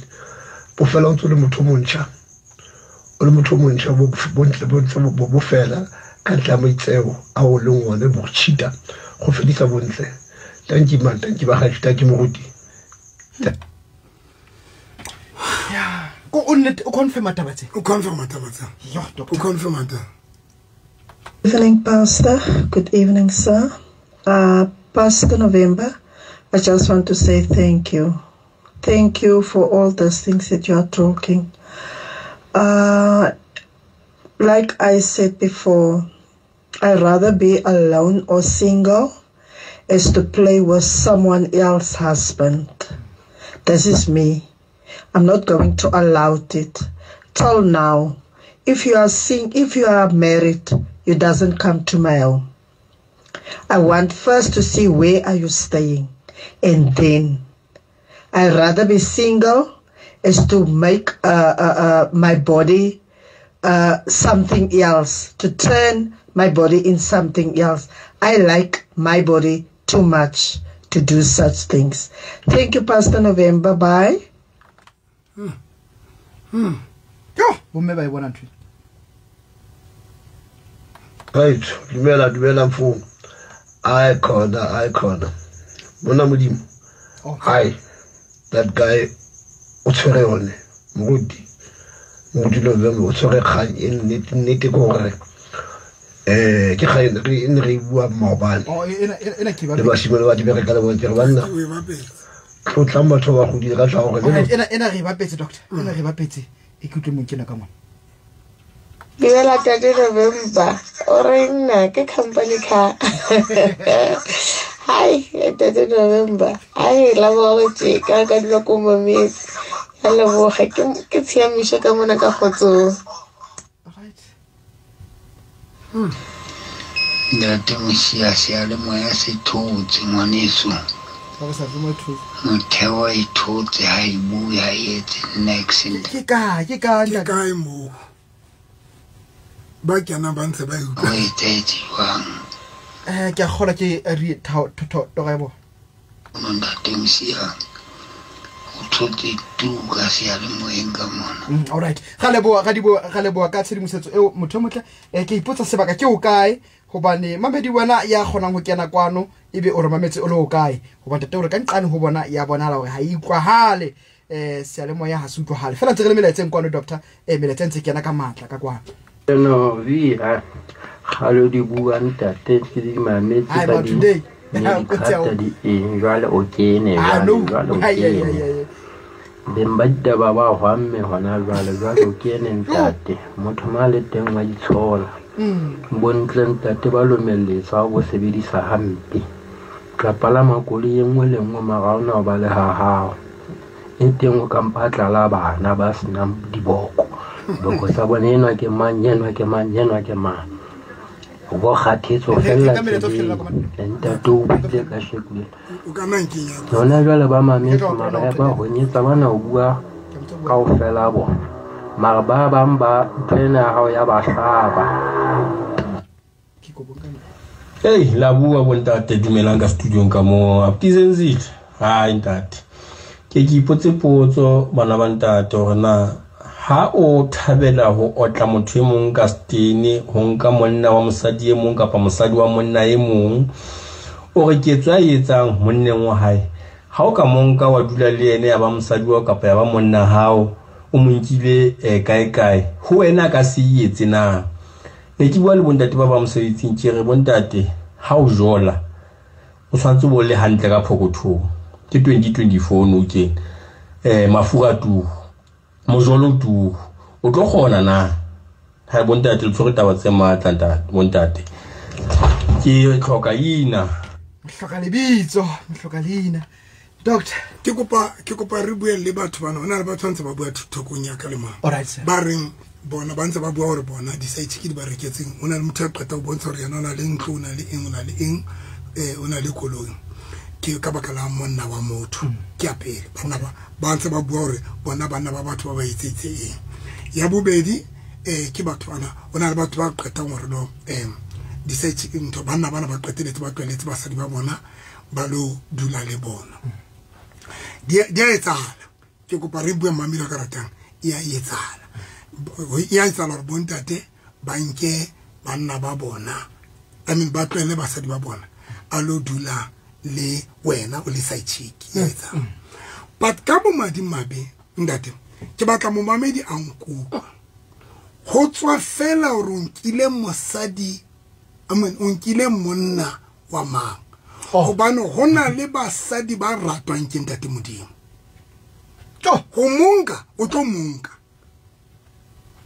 bo fela o ntse le motho montšha o le motho montšha bo bontle bo fela ka tla moitseo a o leng one bo cheata go fedisa bontle. Thank you man, thank you ba ga thank you moruti. Ya ko o nnete o confirm taba tse. O confirm taba tse. Yo doctor. O confirm taba. Evening, Pastor. Good evening, sir. Pastor November, I just want to say thank you. Thank you for all those things that you are talking. Like I said before, I'd rather be alone or single as to play with someone else's husband. This is me. I'm not going to allow it. Till now, if you are if you are married, you doesn't come to my home. I want first to see where are you staying, and then I'd rather be single as to make my body something else, to turn my body in something else. I like my body too much to do such things. Thank you, Pastor November. Bye. Yo, bomme ba e bona ntho. Right, dumela dumela mfo. Ai khona, ai khona. Monna Modimo. Hi. That guy o tshwere yone moruti. Moruti November o tshwere kgang e nnete nnete ke gore ke kgang e ne re bua maobane. Oh, ena ke ba. Le basimane ba di bereka le bone ke re banna. Tlotlang batho ba godile ka tla gore le ena re bapetse doctor. Ena re bapetse e ke utlwe mong kena ka mona. Dumela Tate November, o re nna ke company car. Hi Tate November, ai la boetse ka ka dilo ko mometse. Ya leboga ke tshiamišo ka mona ka kgotsong. Right. Ntate Mosia seyalemoya se thotse ngwaneso. Motheo e thotse ha e bue ha e etse next. Ke kae ke kae mo ba kena ba ntse ba utlwa. O etsetse jwang? Ke a kgolwa ke re toro ya bona. Ntate Mosia o thotse tu ka seyalemoyeng ka mona. All right. Ga leboa ka tshedimosetso eo motho motle. Ke ipotsa sebaka ke o kae hobane mamedi wena ya kgonang ho kena kwano ebe o re mametse o le o kae hobane tate o re ka nqane ho bona ya bonala hore ha e utlwahale seyalemoya ha se utlwahale fela ntse re le melaetseng kwano doctor melaetsa ntse kena ka matla ka kwano. No vi kgale di bua ntate ke di mametse ba di di eng jwale o kene jwale o kene beng ba ditaba ba hwamme hona jwale jwale o kene ntate motho ma le teng wa itshola bontle ntate ba lomelletsa bo sebedisa hampe tla palama koloi e nngwe le nngwe mara ona o ba le ha hao e teng o kampa tlala bana ba senang diboko boko sa bone enwa ke mang enwa ke mang enwa ke mang o bo kgathetse o fella ntate o buile ka shekule yona jwale ba mametse mara ba honyetsa bana o bua kaofela bona mara ba bang ba ntho ena ya hao ya ba hlaba. Hey, la bua bontate dumelang ka studiong ka mo Aptizenzile. Hai ntate. Ke ke ipotse potso bana ba ntate hore na ha o thabela ho otla motho e mong ka stene ho nka monna wa mosadi e mong kapa mosadi wa monna e mong o re ketso a etsang monneng wa hae Ha o ka monka wa dula le yene ya ba mosadi wa kapa ya ba monna hao, o mo nkile kae kae, ho wena ka se etse na. Ne ke bua le bontate ba ba mosebetsing, ke re bontate ha o jola o tshwantse bo le hantle ka phokothong. Ke 2024 no ke mafura tu mojolo tu o tlo kgona na. Ha bontate le tshwere taba tse matla ntate, bontate ke hloka ina, hloka lebitso, hloka leina. Doctor, ke kopa re bue le batho bana. Hona le batho ntse ba bua thokong ya ka le mang. Ba reng bona ba ntse ba bua hore bona di-side chick di ba reketseng. Hona le motho a qeta ho bontsha hore yena o na le ntlo, o na le eng, o na le eng, o na le koloi. Ke ka baka la monna wa motho. Ke ya pele. Bana ba ntse ba bua hore bona banna ba batho ba ba etsetse eng. Ya bobedi ke batho bana, hona le batho ba qetang hore no di-side chick ntho banna bana ba qeteletse ba tlweletse basadi ba bona ba lo dula le bona. Di a etsahala. Ke kopa re bue mamelo ka ratang. E a etsahala. E a etsahala hore bontate ba nke banna ba bona, I mean ba tlwele basadi ba bona, a lo dula le wena o le side chick. E a etsahala. But ka bomadimabe ntate, ke batla momamedi a nkutlwa. Ho tswa fela hore o nkile mosadi, I mean o nkile monna wa mang. Hobane ho na le basadi ba ratwang ke ntate Modimo. Ho monka o tlo monka.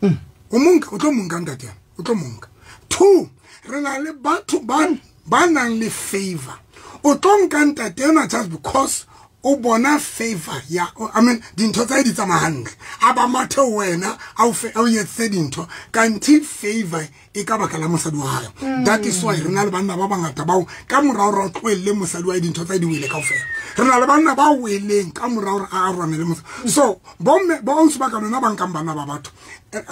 Ho monka o tlo monka ntate, o tlo monka. 2, re na le batho ba nang le favor. O tlo nka ntate ena just because o bona favor ya, I mean dintho tsa di tsamaya hantle. A ba mathe wena a o etse dintho kanti favor e ka baka la mosadi wa hae. That is why re na le banna ba bangata bao ka morao re tlohelle mosadi wa dintho tsa di wele kaofela. Re na le banna ba weleng ka morao re a rwana le mosadi. So bomme ba ausi ba ka lona ba nkang bana ba batho.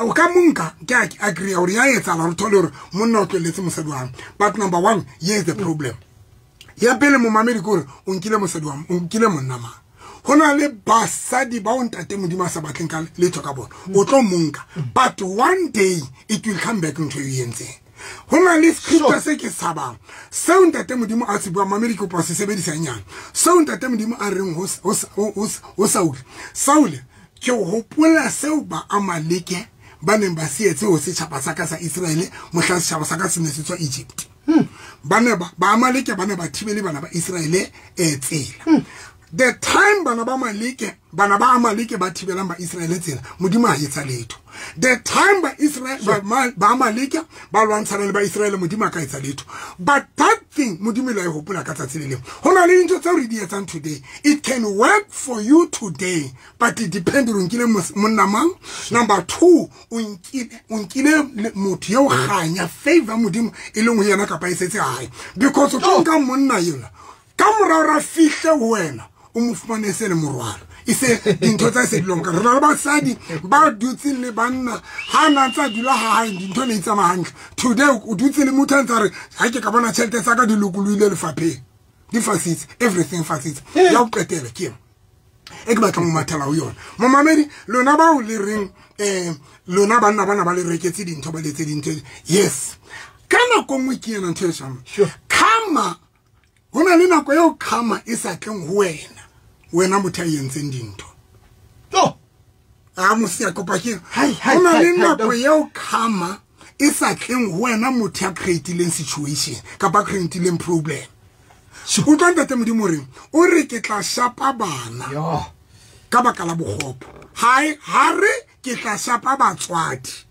O ka monka ke agree hore ya etsahala re thole hore monna o tlohelletse mosadi wa hae. But number 1, here is the problem. Ya pele momamedi ke hore o nkile mosadi wa, o nkile monna mang. Ho na le basadi ba o ntate Modimo a sa batleng ka letho ka bona. O tlo monka. But one day it will come back ntho e entseng. Ho na le scripture se ke tshabang. Seo ntate Modimo a se bua, mamedi ke kopa se sebedisa nyana. Seo ntate Modimo a reng ho Saule. Saule ke hopola seo ba Amaleke ba neng ba se etse ho setjhaba sa ka sa Israele mohla setjhaba sa ka se ne se tswa Egypt. Ba ne ba Amaleke ba ne ba thibele bana ba Israele tsela. The time bana ba Amaleke ba thibelang ba Israele tsela, Modimo ha etsa letho. The time ba Israel ba Amaleke ba lwantshana le ba Israele, Modimo ka etsa letho. But that thing Modimo la e hopola ka tsatsi le leng. Ho na le dintho tseo re di etsang today. It can work for you today, but it depends on nkile monna mang. Number 2, o nkile motho eo kganya favor Modimo e leng ho yena kapa e setse hae. Because o tlo nka monna yona ka morao ra fihle ho wena o mo fumane se le morwalo. E se dintho tsa se dilong ka re na le basadi ba dutseng le banna ha na tsa dula ha hae dintho ne tsamaya hantle. Today o dutse le motho a ntse re ha ke ka bona tjhelete tsa ka di lokolohile lefapheng, di fasitse, everything fasitse. Ya o qetela ke eng e ke batlang ho mathela ho yona. Momamedi lona bao le reng lona banna bana ba le reketse dintho ba letse dintho. Yes, ka nako nngwe ke ena ntho e shang karma. Ho na le nako eo karma e sa tleng ho wena, wena motho a entseng dintho. A mosia kopa ke ho na le nako eo karma e sa tleng ho wena motho a creatileng situation kapa creatileng problem. Utlwa ntate Modimo reng o re ke tla shapa bana ka baka la bokgopo. Ha re ke tla shapa batswadi,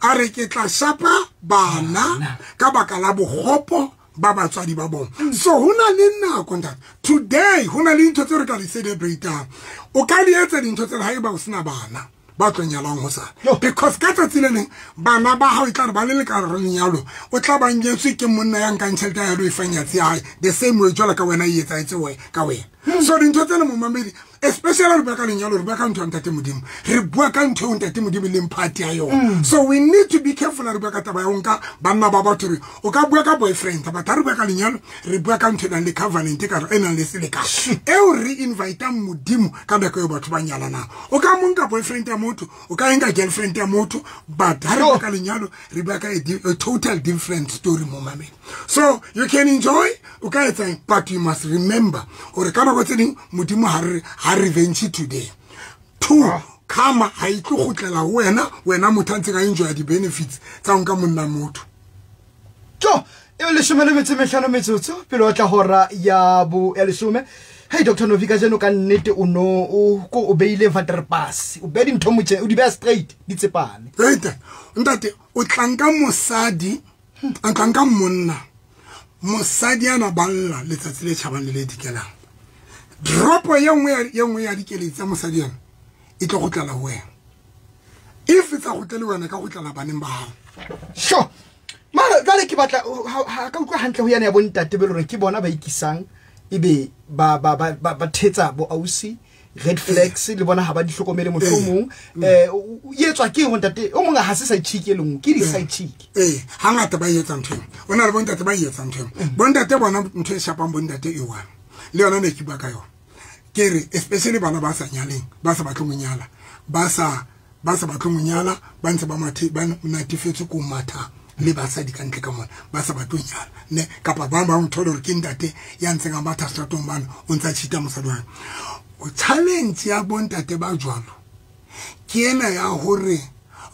a re ke tla shapa bana ka baka la bokgopo ba batswadi ba bona. So ho na le nako ntate. Today ho na le dintho tseo re ka di celebrate-ang. O ka di etsa dintho tsena haeba o sena bana ba tlo nyalang hosane. Because ka tsatsi le leng bana ba hao e tla re ba le le ka re lenyalo, o tla ba nyetswe ke monna ya nkang tjhelete ya lo e fang nyatsi ya hae, the same way jwalo ka wena e etsahetse ka wena. So dintho tsena momamedi Especially re bua ka lenyalo, re bua ka ntho ya ntate Modimo, re bua ka ntho eo ntate Modimo e leng party ya yona. So we need to be careful re bua ka taba ya ho nka banna ba batho. Re o ka bua ka boyfriend, but ha re bua ka lenyalo, re bua ka ntho e nang le covenant, ka e nang le selekane eo re invitang Modimo ka nako eo batho ba nyalanang. O ka mo nka boyfriend ya motho, o ka nka girlfriend ya motho, but ha re bua ka lenyalo, re bua ka a total different story mo mameng. So you can enjoy, o ka etsang, but you must remember hore ka nako tse ding Modimo ha re ha revenge today. Two, karma ha e tlo kgutlela ho wena, wena motho a ntseng a enjoy di-benefits tsa ho nka monna motho. Jo, e 15 metsotso pele o tla hora ya bo ya 10. Hey Dr. Novi, kajeno ka nnete o no o ko o beile vaterpas, o beha dintho motjhe, o di beha straight, di tsepame. Right. Ntate, o tla nka mosadi, o tla nka monna. Mosadi ana balla letsatsi le tjhabang le le dikelang. Dropo ye nngwe ya dikeletso tsa mosadi ena e tlo kgutlela ho wena. If e sa kgutlele wena, ka kgutlela baneng ba hao. Sure. Mara jwale ke batla ha ka utlwa hantle ho yana ya bontate be lore ke bona ba ikisang ebe ba ba ba ba thetsa bo ausi red flags le bona ha ba di hlokomele mohlomong. O etswa ke hore ntate o mong ha se side chick e lengwe, ke di side chick. Hangata ba etsa ntho eo. O na le bontate ba etsa ntho eo. Bontate bona ntho e shapang bontate e one. Le yona ne ke bua ka yona. Ke re especially bana ba sa nyaleng, ba sa batleng ho nyala, ba sa batleng ho nyala, ba ntse ba mathe, ba natefetswe ko matha le basadi ka ntle ka mona, ba sa batleng ho nyala ne, kapa ba bang thole hore ke ntate ya ntseng a matha seteratong bana, o ntsa cheat-a mosadi wa hae. O challenge ya bontate ba jwalo ke ena ya hore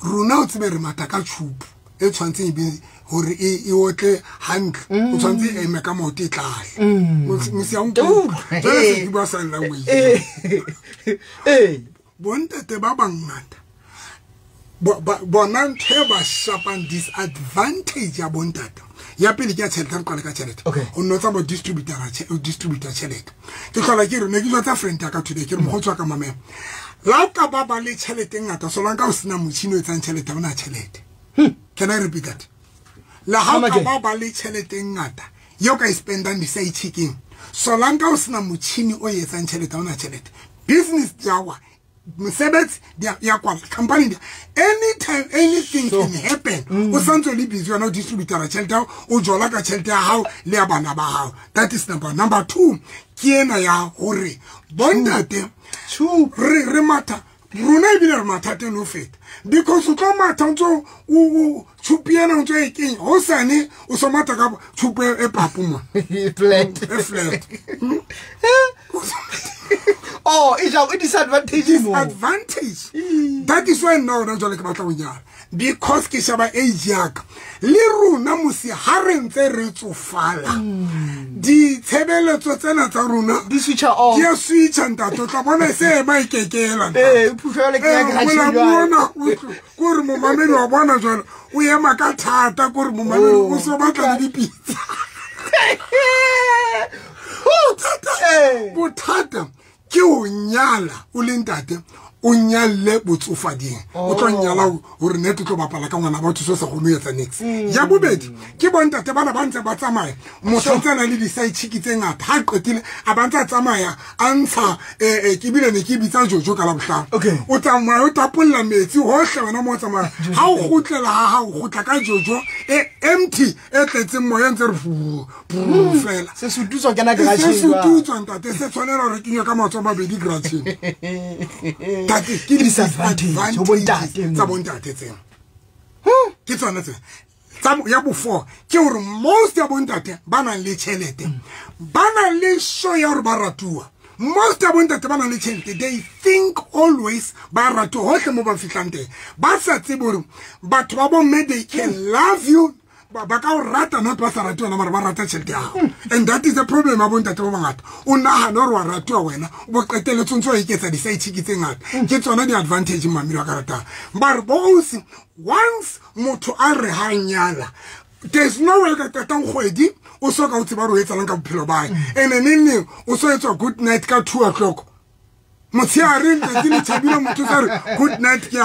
rona o tsebe re matha ka tjhupu e tshwantseng e be hore e otle hantle, o tshwanetse e eme ka maoto e tlale. Mosi a nkutlwa. Jwale se ke bua sign language. Bontate ba bangata bona ntho e ba shapang disadvantage ya bontate. Ya pele ke ya tjhelete, re qale ka tjhelete. O nno tsamaya o distributor tjhelete. Ke hlola ke re ne ke jwetsa friend ya ka today, ke re mokgotsi wa ka mamela. La o ka ba ba le tjhelete e ngata, solanka o sena motjhini o etsang tjhelete, ha o na tjhelete. Can I repeat that? La ha o ka ba ba le tjhelete e ngata eo ka e spendang di-side chick-eng, solanka o sena motjhini o etsang tjhelete, ha o na tjhelete. Business ya wa mosebetsi ya kwala, company di anytime anything can happen. O santse o le busy wena o distributor tjhelete ya hao, o jola ka tjhelete ya hao le ya bana ba hao. That is number one. Number two, ke ena ya hore bontate re matha rona ebile re mathateng le ho feta, because o tlo matha o ntso o tjhupi ena o ntso e kenya, hosane o so matha ka tjhupu e papu mo. E flat. E flat. Oh, e ja, e disadvantage mo. Disadvantage. That is why now rona jwale ke batla ho nyala, because ke sheba age ya ka. Le rona mosi ha re ntse re tsofala, ditshebeletso tsena tsa rona di switcha off. Di a switcha ntate, o tla bona e se ema e kekela, ntate. Phufo jwale ke ya garage Mola jwale. bona, o tlo, ke hore momamedi wa bona jwale, o ema ka thata, ke hore momamedi o so batla le dipitsa. Bothata ke ho nyala o le ntate, o nyalle botsofading. O tlo nyala hore nete o tlo bapala ka ngwana batho so sa kgone ho etsa niks. Ya bobedi ke bontate bana ba ntse ba tsamaya, motho o ntse a na le di-side chick tse ngata, ha qetile a ba ntse a tsamaya a ntsha, ke bile ne ke bitsa Jojo ka Labohlano. O tsamaya o tapolla metsi hohle wena mo o tsamaya. Ha o kgutlela ha hao, o kgutla ka Jojo e empty e tletseng moya ntse re fu, fu, fela. Se sututswa kena garage Se jwang? sututswa ntate, se tshwanela hore kenywe ka matsoho a mabedi garage. Ntate, ke Ke disadvantage ho bontate tsa bontate tsena. Ke tsona tsena. Tsa ya bo four ke hore most ya bontate ba nang le tjhelete, ba nang le show ya hore ba ratuwa. Most ya bontate ba nang le tjhelete, they think always ba ratuwa hohle mo ba fihlang teng. Ba sa tsebe hore batho ba bomme they can love you, ba ka o rata, not ba sa rate wena, mara ba rata tjhelete ya hao. And that is the problem ya bontate ba bangata. O nahana hore wa ratuwa wena, o bo qetelletse o ntso o eketsa di-side chick tse ngata. Ke tsona di-advantage mamedi wa ka ratang. Mara bo ausi, once motho a re ha nyala, there's no way ka qetang kgwedi o so ka o tseba hore o etsalang ka bophelo ba hae. And neng neng o so etswa good night ka 2 o'clock. Motshehare letsatsi le tjhabile, motho o sa re good night, ke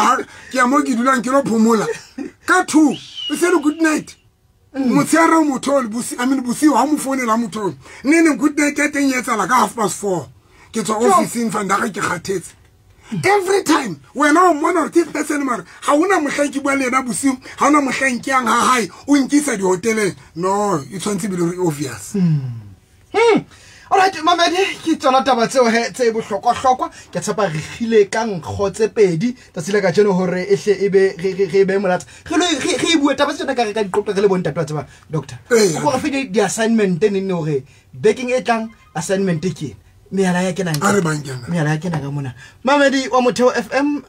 ya mo ke dulang ke lo phomola. Ka 2 o se re good night. Motshehare o motho o le I mean bosiu ha mo founela motho o. Neng neng good night ya teng e etsahala ka 4:30. Ke tswa office-ing vandag ke kgathetse. Every time wena o mmona hore ke person mara ha hona mohlang ke bua le yena bosiu, ha hona mohlang ke yang ha hae, o nkisa dihoteleng. No, e tshwanetse be le obvious. Alright, mamedi, ke tsona taba tseo he tse bohlokwa-hlokwa. Ke tshepa re kgile ka nkgo tse pedi tsatsi la kajeno hore e hle e be re be molatsa. Re e bue taba tsena ka re ka diqoqa re le bontate wa tseba, doctor. O re fe di-assignment neng hore bekeng e tlang assignment ke ena. Mehala ya kenang ka. Mehala ya kenang ka mona. Mamedi wa Motheo FM,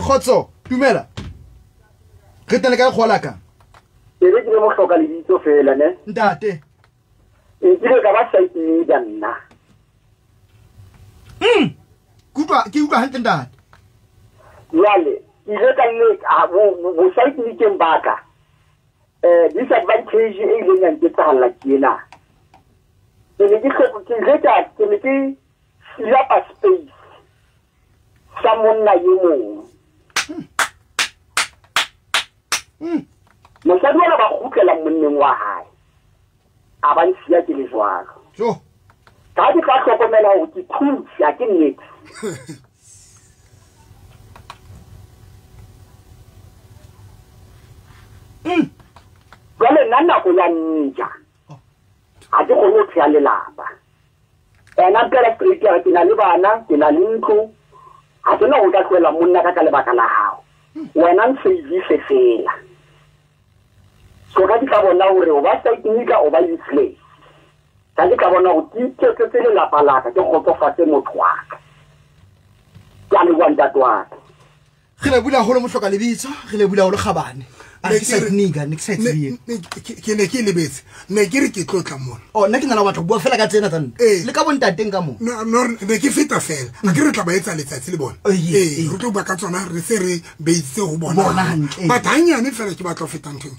kgotso, dumela. Re teng le kae kgola ka? Ke re ke le mohloka lebitso fela ne. Ntate. Nkile ka ba site leader nna. Ke utlwa hantle ntate. Jwale, ke ile ka leka bo site leadeng ba ka. Disadvantage e ileng ya nketsahalla ke ena. Ke ne ke ke fill-up space sa monna e mong. Mosadi ona ba kgutlela monneng wa hae. A ba nsiya ke le jwalo. Ka ke tla hlokomela hore ke thusi ha ke nnete. Jwale nna nako ya nja. Ha ke kgone ho theha lelapa. Ena mpela straight ya ke na le bana, ke na le ntlo. Ha ke na ho ka tlohela monna ka lebaka la hao. Wena nsevise fela. So ka ke tla bona hore o ba site nika o ba useless. Ka ke tla bona hore ke iketsetse lelapa la ka, ke kgotsofatse motho wa ka. Ke a leboha ntate wa ka. Re le bula haholo mohloka lebitso, re le bula haholo kgabane. A ke site nika, ne ke sa tsebe. Ke ne ke lebetse. Ne ke re ke tlotla mona. Oh, nna ke nana batho bua fela ka tsena tsa nna. Le ka bontateng ka mo. No, ne ke feta fela. A ke re tla ba etsa letsatsi le bona. Re tlo bua ka tsona re se re beitse ho bona. Bona hantle. But hanyane fela ke batla ho feta nthong.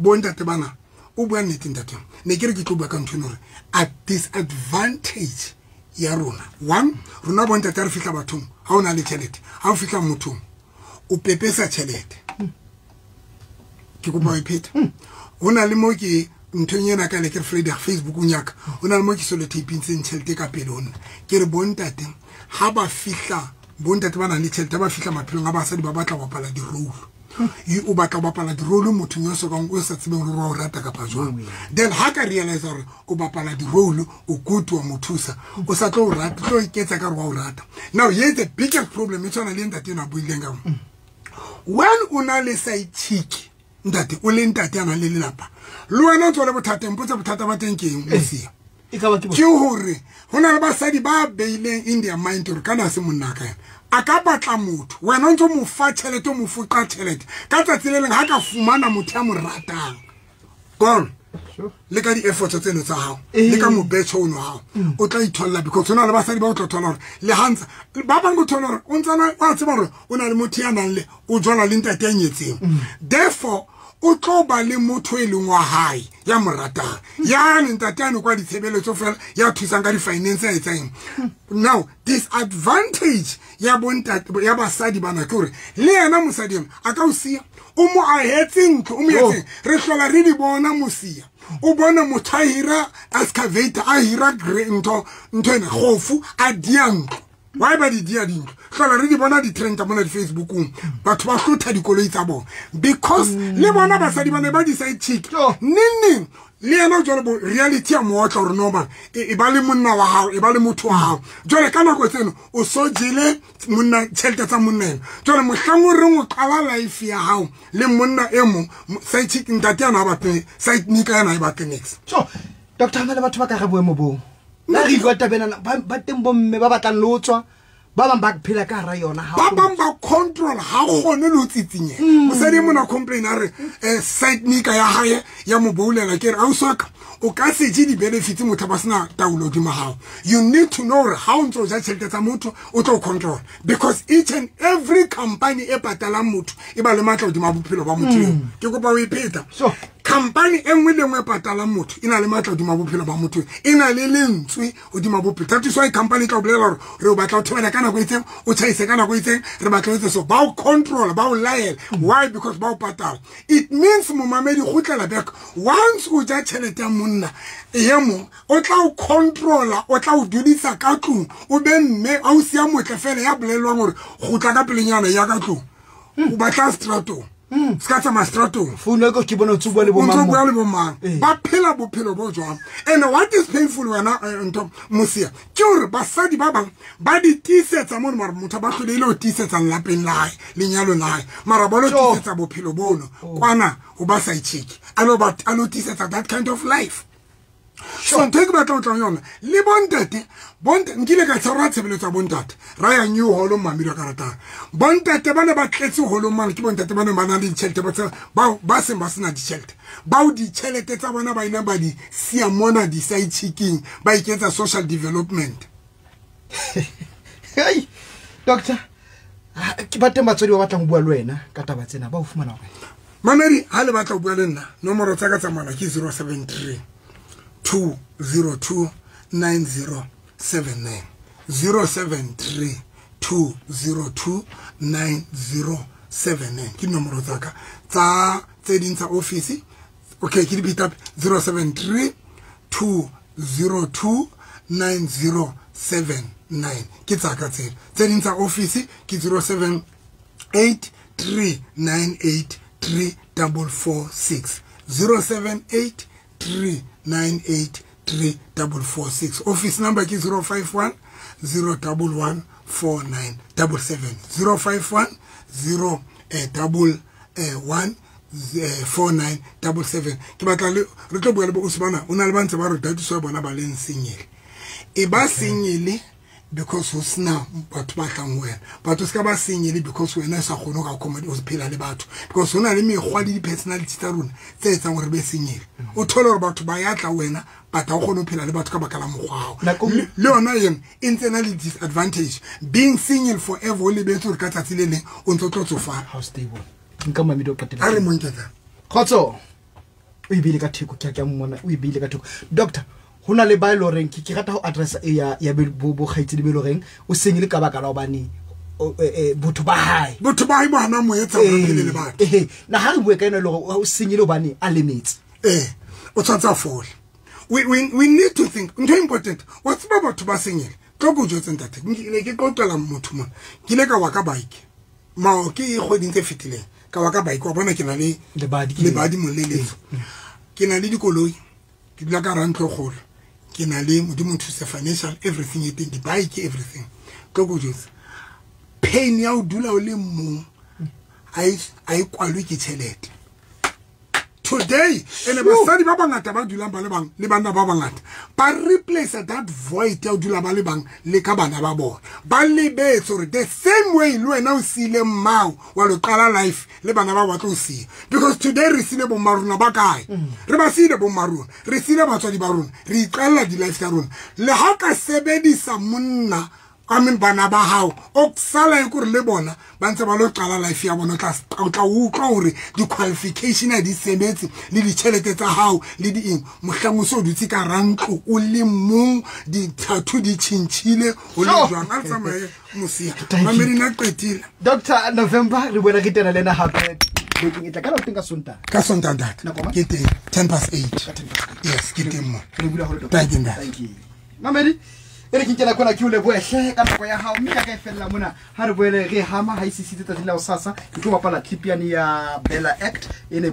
Bontate bana o bua nnete ntate. Ne ke re ke tlo bua ka ntho eno hore a disadvantage ya rona. One, rona bontate re fihla bathong, ha o na le tjhelete, ha o fihla mothong, o pepesa tjhelete. Ke kopa o ipheta. Ho na le mo ke nthong ena ka le ke Friday Facebookong ya ka. Ho na le mo ke solo taping-tseng tjhelete ka pele ho nna. Ke re bontate ha ba fihla, bontate ba nang le tjhelete ba fihla maphelong a basadi ba batla ho bapala di-role. O batla ho bapala di-role mothong yo sokang o sa tsebeng hore wa o rata kapa jwang. Then ha ka realize hore o bapala di-role, o good wa mo thusa, o sa tlo o rata, tlo iketsa ka hore wa o rata. Now here's the biggest problem e tshwana le ntate ena a buileng ka mo. When o na le side chick, ntate o le ntate a nang le lelapa, le wena o tswale bothateng, mpotse bothata ba teng ke eng, mosia. Ke hore ho na le basadi ba beileng in their mind hore kana se monna ka yena. A ka batla motho, wena o ntso mo fa tjhelete, o mo foqa tjhelete. Ka tsatsi le leng ha ka fumana motho ya mo ratang. Gone. Le ka di-efforts tseno tsa hao, le ka mobetjho ono hao, o tla itholla because ho na le basadi ba o tla thola hore le hantsa ba bang o thola hore o ntsana wa tseba hore o na le motho ya nang le o jwala le ntate ya nyetseng. Therefore o tlo ba le motho e leng wa hae ya mo ratang. Ya ntate ano kwa ditshebeletso fela ya thusang ka di-finance ya etsang. Now disadvantage ya bontate ya basadi bana ke hore le yena mosadi ena a ka o siya, o mo ahetse ntlo, o mo etseng re hlola re di bona mosia. O bona motho a hira excavator, a hira ntho ena kgofu a dia ntlo. Why ba di dia dintlo? Hlola re di bona di-trend mona di-Facebookong. Batho ba hlotha dikoloi tsa bona. Because le bona basadi ba ne ba di-side chick. Neng le yena jwale bo reality ya mootla hore no man, e ba le monna wa hao, e ba le motho wa hao. Jwale ka nako tseno o so jele monna tjhelete tsa monna ena. Jwale mohlang o reng o qala life ya hao le monna e mong, side chick ntate yana ha batle, side nika yana ha batle next. So, Doctor, hana le batho ba ka re boemo boo. Nna re utlwa taba ena, ba teng bomme ba batlang le ho tswa, ba bang ba phela ka hara yona ha Ba bang ba control ha kgone le ho tsitsinyeha. Mosadi e mona complain a re side nika ya hae ya mo boulela, ke re ausi wa ka o ka se je di-benefits motho ba sena taolo hodima hao. You need to know hore ha o ntso ja tjhelete tsa motho o tlo control, because each and every company e patalang motho e ba le matla hodima bophelo ba motho eo. Ke kopa o e pheta. Company e nngwe le nngwe e patalang motho e na le matla hodima bophelo ba motho, e na le lentswe hodima bophelo. That is why company e tla o bolela hore re o batla o thobela ka nako e itseng, o tjhaise ka nako e itseng, re batla o etse so. Ba o control, ba o laela. Why? Because ba o patala. It means momamedi kgutlela back. Once o ja tjhelete ya monna e mong, o tla o controla, o tla o dudisa ka tlung, o be mme a o siya motle fela ya bolellwang hore kgutla ka pelenyana ya ka tlung. O batla stratong. Ska tsamaya stratong. Founu ya ka ke bona o ntso bua le bo mang O ntso mo? bua le bo mang. Ba phela bophelo bo jwang. And what is painful wena ntho Mosia, ke hore basadi ba bang ba di tiisetsa mono, mara motho ba hlolehile ho tiisetsa lelapeng la hae, lenyalong la hae, mara ba lo tiisetsa bophelo bono kwana ho ba sa itjheke, a lo ba, a lo tiisetsa that kind of life. So ntho e ke batlang ho tla ho yona le bontate, nkile ka tshwarwa tshebeletso ya bontate, ra ya New Hall mamedi wa ka ratang. Bontate ba ne ba tletse holong mane, ke bontate ba ne ba na le ditjhelete, ba tseba, ba seng ba sena ditjhelete, bao ditjhelete tsa bona ba ileng ba di siya mona di-side chicking, ba iketsa social development. Hey, doctor, ke ba teng batswadi ba batlang ho bua le wena ka taba tsena, ba o fumana hore? Mamedi, ha le batla ho bua le nna, nomoro tsa ka tsa mohala ke 073 202 9079. 073 202 9079 ke nomoro tsa ka. Tsa tse ding tsa office, okay, ke di beat up 073 202 9079 ke tsa ka tseo. Tse ding tsa office ke 078 398 3446. 078 398 3446. Office number ke 051 011 4977. 051 0 double, 1, 4977. Ke batla le re tlo bua le bo Usmana, o na le ba ntse ba re datiso ya bona ba leng senyele. E ba senyele because ho sena batho ba tlang ho wena. Batho se ka ba senyele because wena o sa kgone ho ka accommodate, o phela le batho. Because ho na le mekgwa le di-personality tsa rona tse etsang hore re be senyele. O thole hore batho ba ya tla wena, but ha o kgone ho phela le batho ka baka la mokgwa wa hao. Nako Le yona eno e ntse e na le disadvantage. Being single forever, o lebetse hore ka tsatsi le leng o ntso tlo tsofala. How stable. Nka mamedi o qetella. A re mo nketsa. Kgotso. O e beile ka theko, ke a ke a mmona, o e beile ka theko. Doctor, ho na le ba e leng horeng ke rata ho address e ya bo kgaitsedi be e leng horeng o senyile ka baka la hobane, botho ba hae. Botho ba hae bo hana mo etsa hore a phele le batho. Na ha re bue ka ena e leng hore o senyile hobane a lemetse. O tshwanetse a fole. We need to think. Ntho e important. Wa tseba batho ba senyile. Tlo ko jwetse ntate. Ne ke qoqela motho mona. Ke ile ka wa ka bike. Mao ke kgweding tse fetileng. Ka wa ka bike, wa bona ke na le Lebadi ke lebadi mo le letso. Ke na le dikoloi. Ke dula ka hara ntlo e kgolo. Ke na le Modimo nthuse financial everything e teng, di-bike everything. Tlo ko jwetse. Pain ya ho dula o le mong ha e kwalwe ke tjhelete. Today, ene basadi ba bangata ba dulang ba le bang le banna ba bangata ba replace that void ya ho dula ba le bang le ka bana ba bona. Ba lebetse hore the same way le wena o siile mmao wa lo qala life le bana ba batla ho siya. Because today re siile bo mma rona ba kae? Re ba siile bo mma rona, re siile batswadi ba rona, re iqalla di-life tsa rona. Le ha ka sebedisa monna, I mean bana ba hao, o sala e kore le bona ba ntse ba lo qala life ya bona, o tla utlwa hore di-qualification ha di sebetse le ditjhelete tsa hao le di eng. Mohlang o so dutse ka hara ntlo o le mong, di-tattoo di tjhentjhile, o le jwang. A re tsamaye Mosia. Thank you. Mamedi na qetile. Doctor November, re boela re tena le ena hape bekeng e tla. Ka la teng ka Sontaha. Ka Sontaha, ntate. Nako mang? Ke teng, 8:10. Ka 8:10. Yes, ke teng mo. Re bula holo, doctor. Thank you, ntate. Thank you. Mamedi, e re ke nkela kwana ke o lebohe ka nako ya hao, mme ya ka e fella mona. Ha re boele re hama ha e sisitse tsatsi la hosasa, ke tlo bapala clip yane ya Bella Act e ne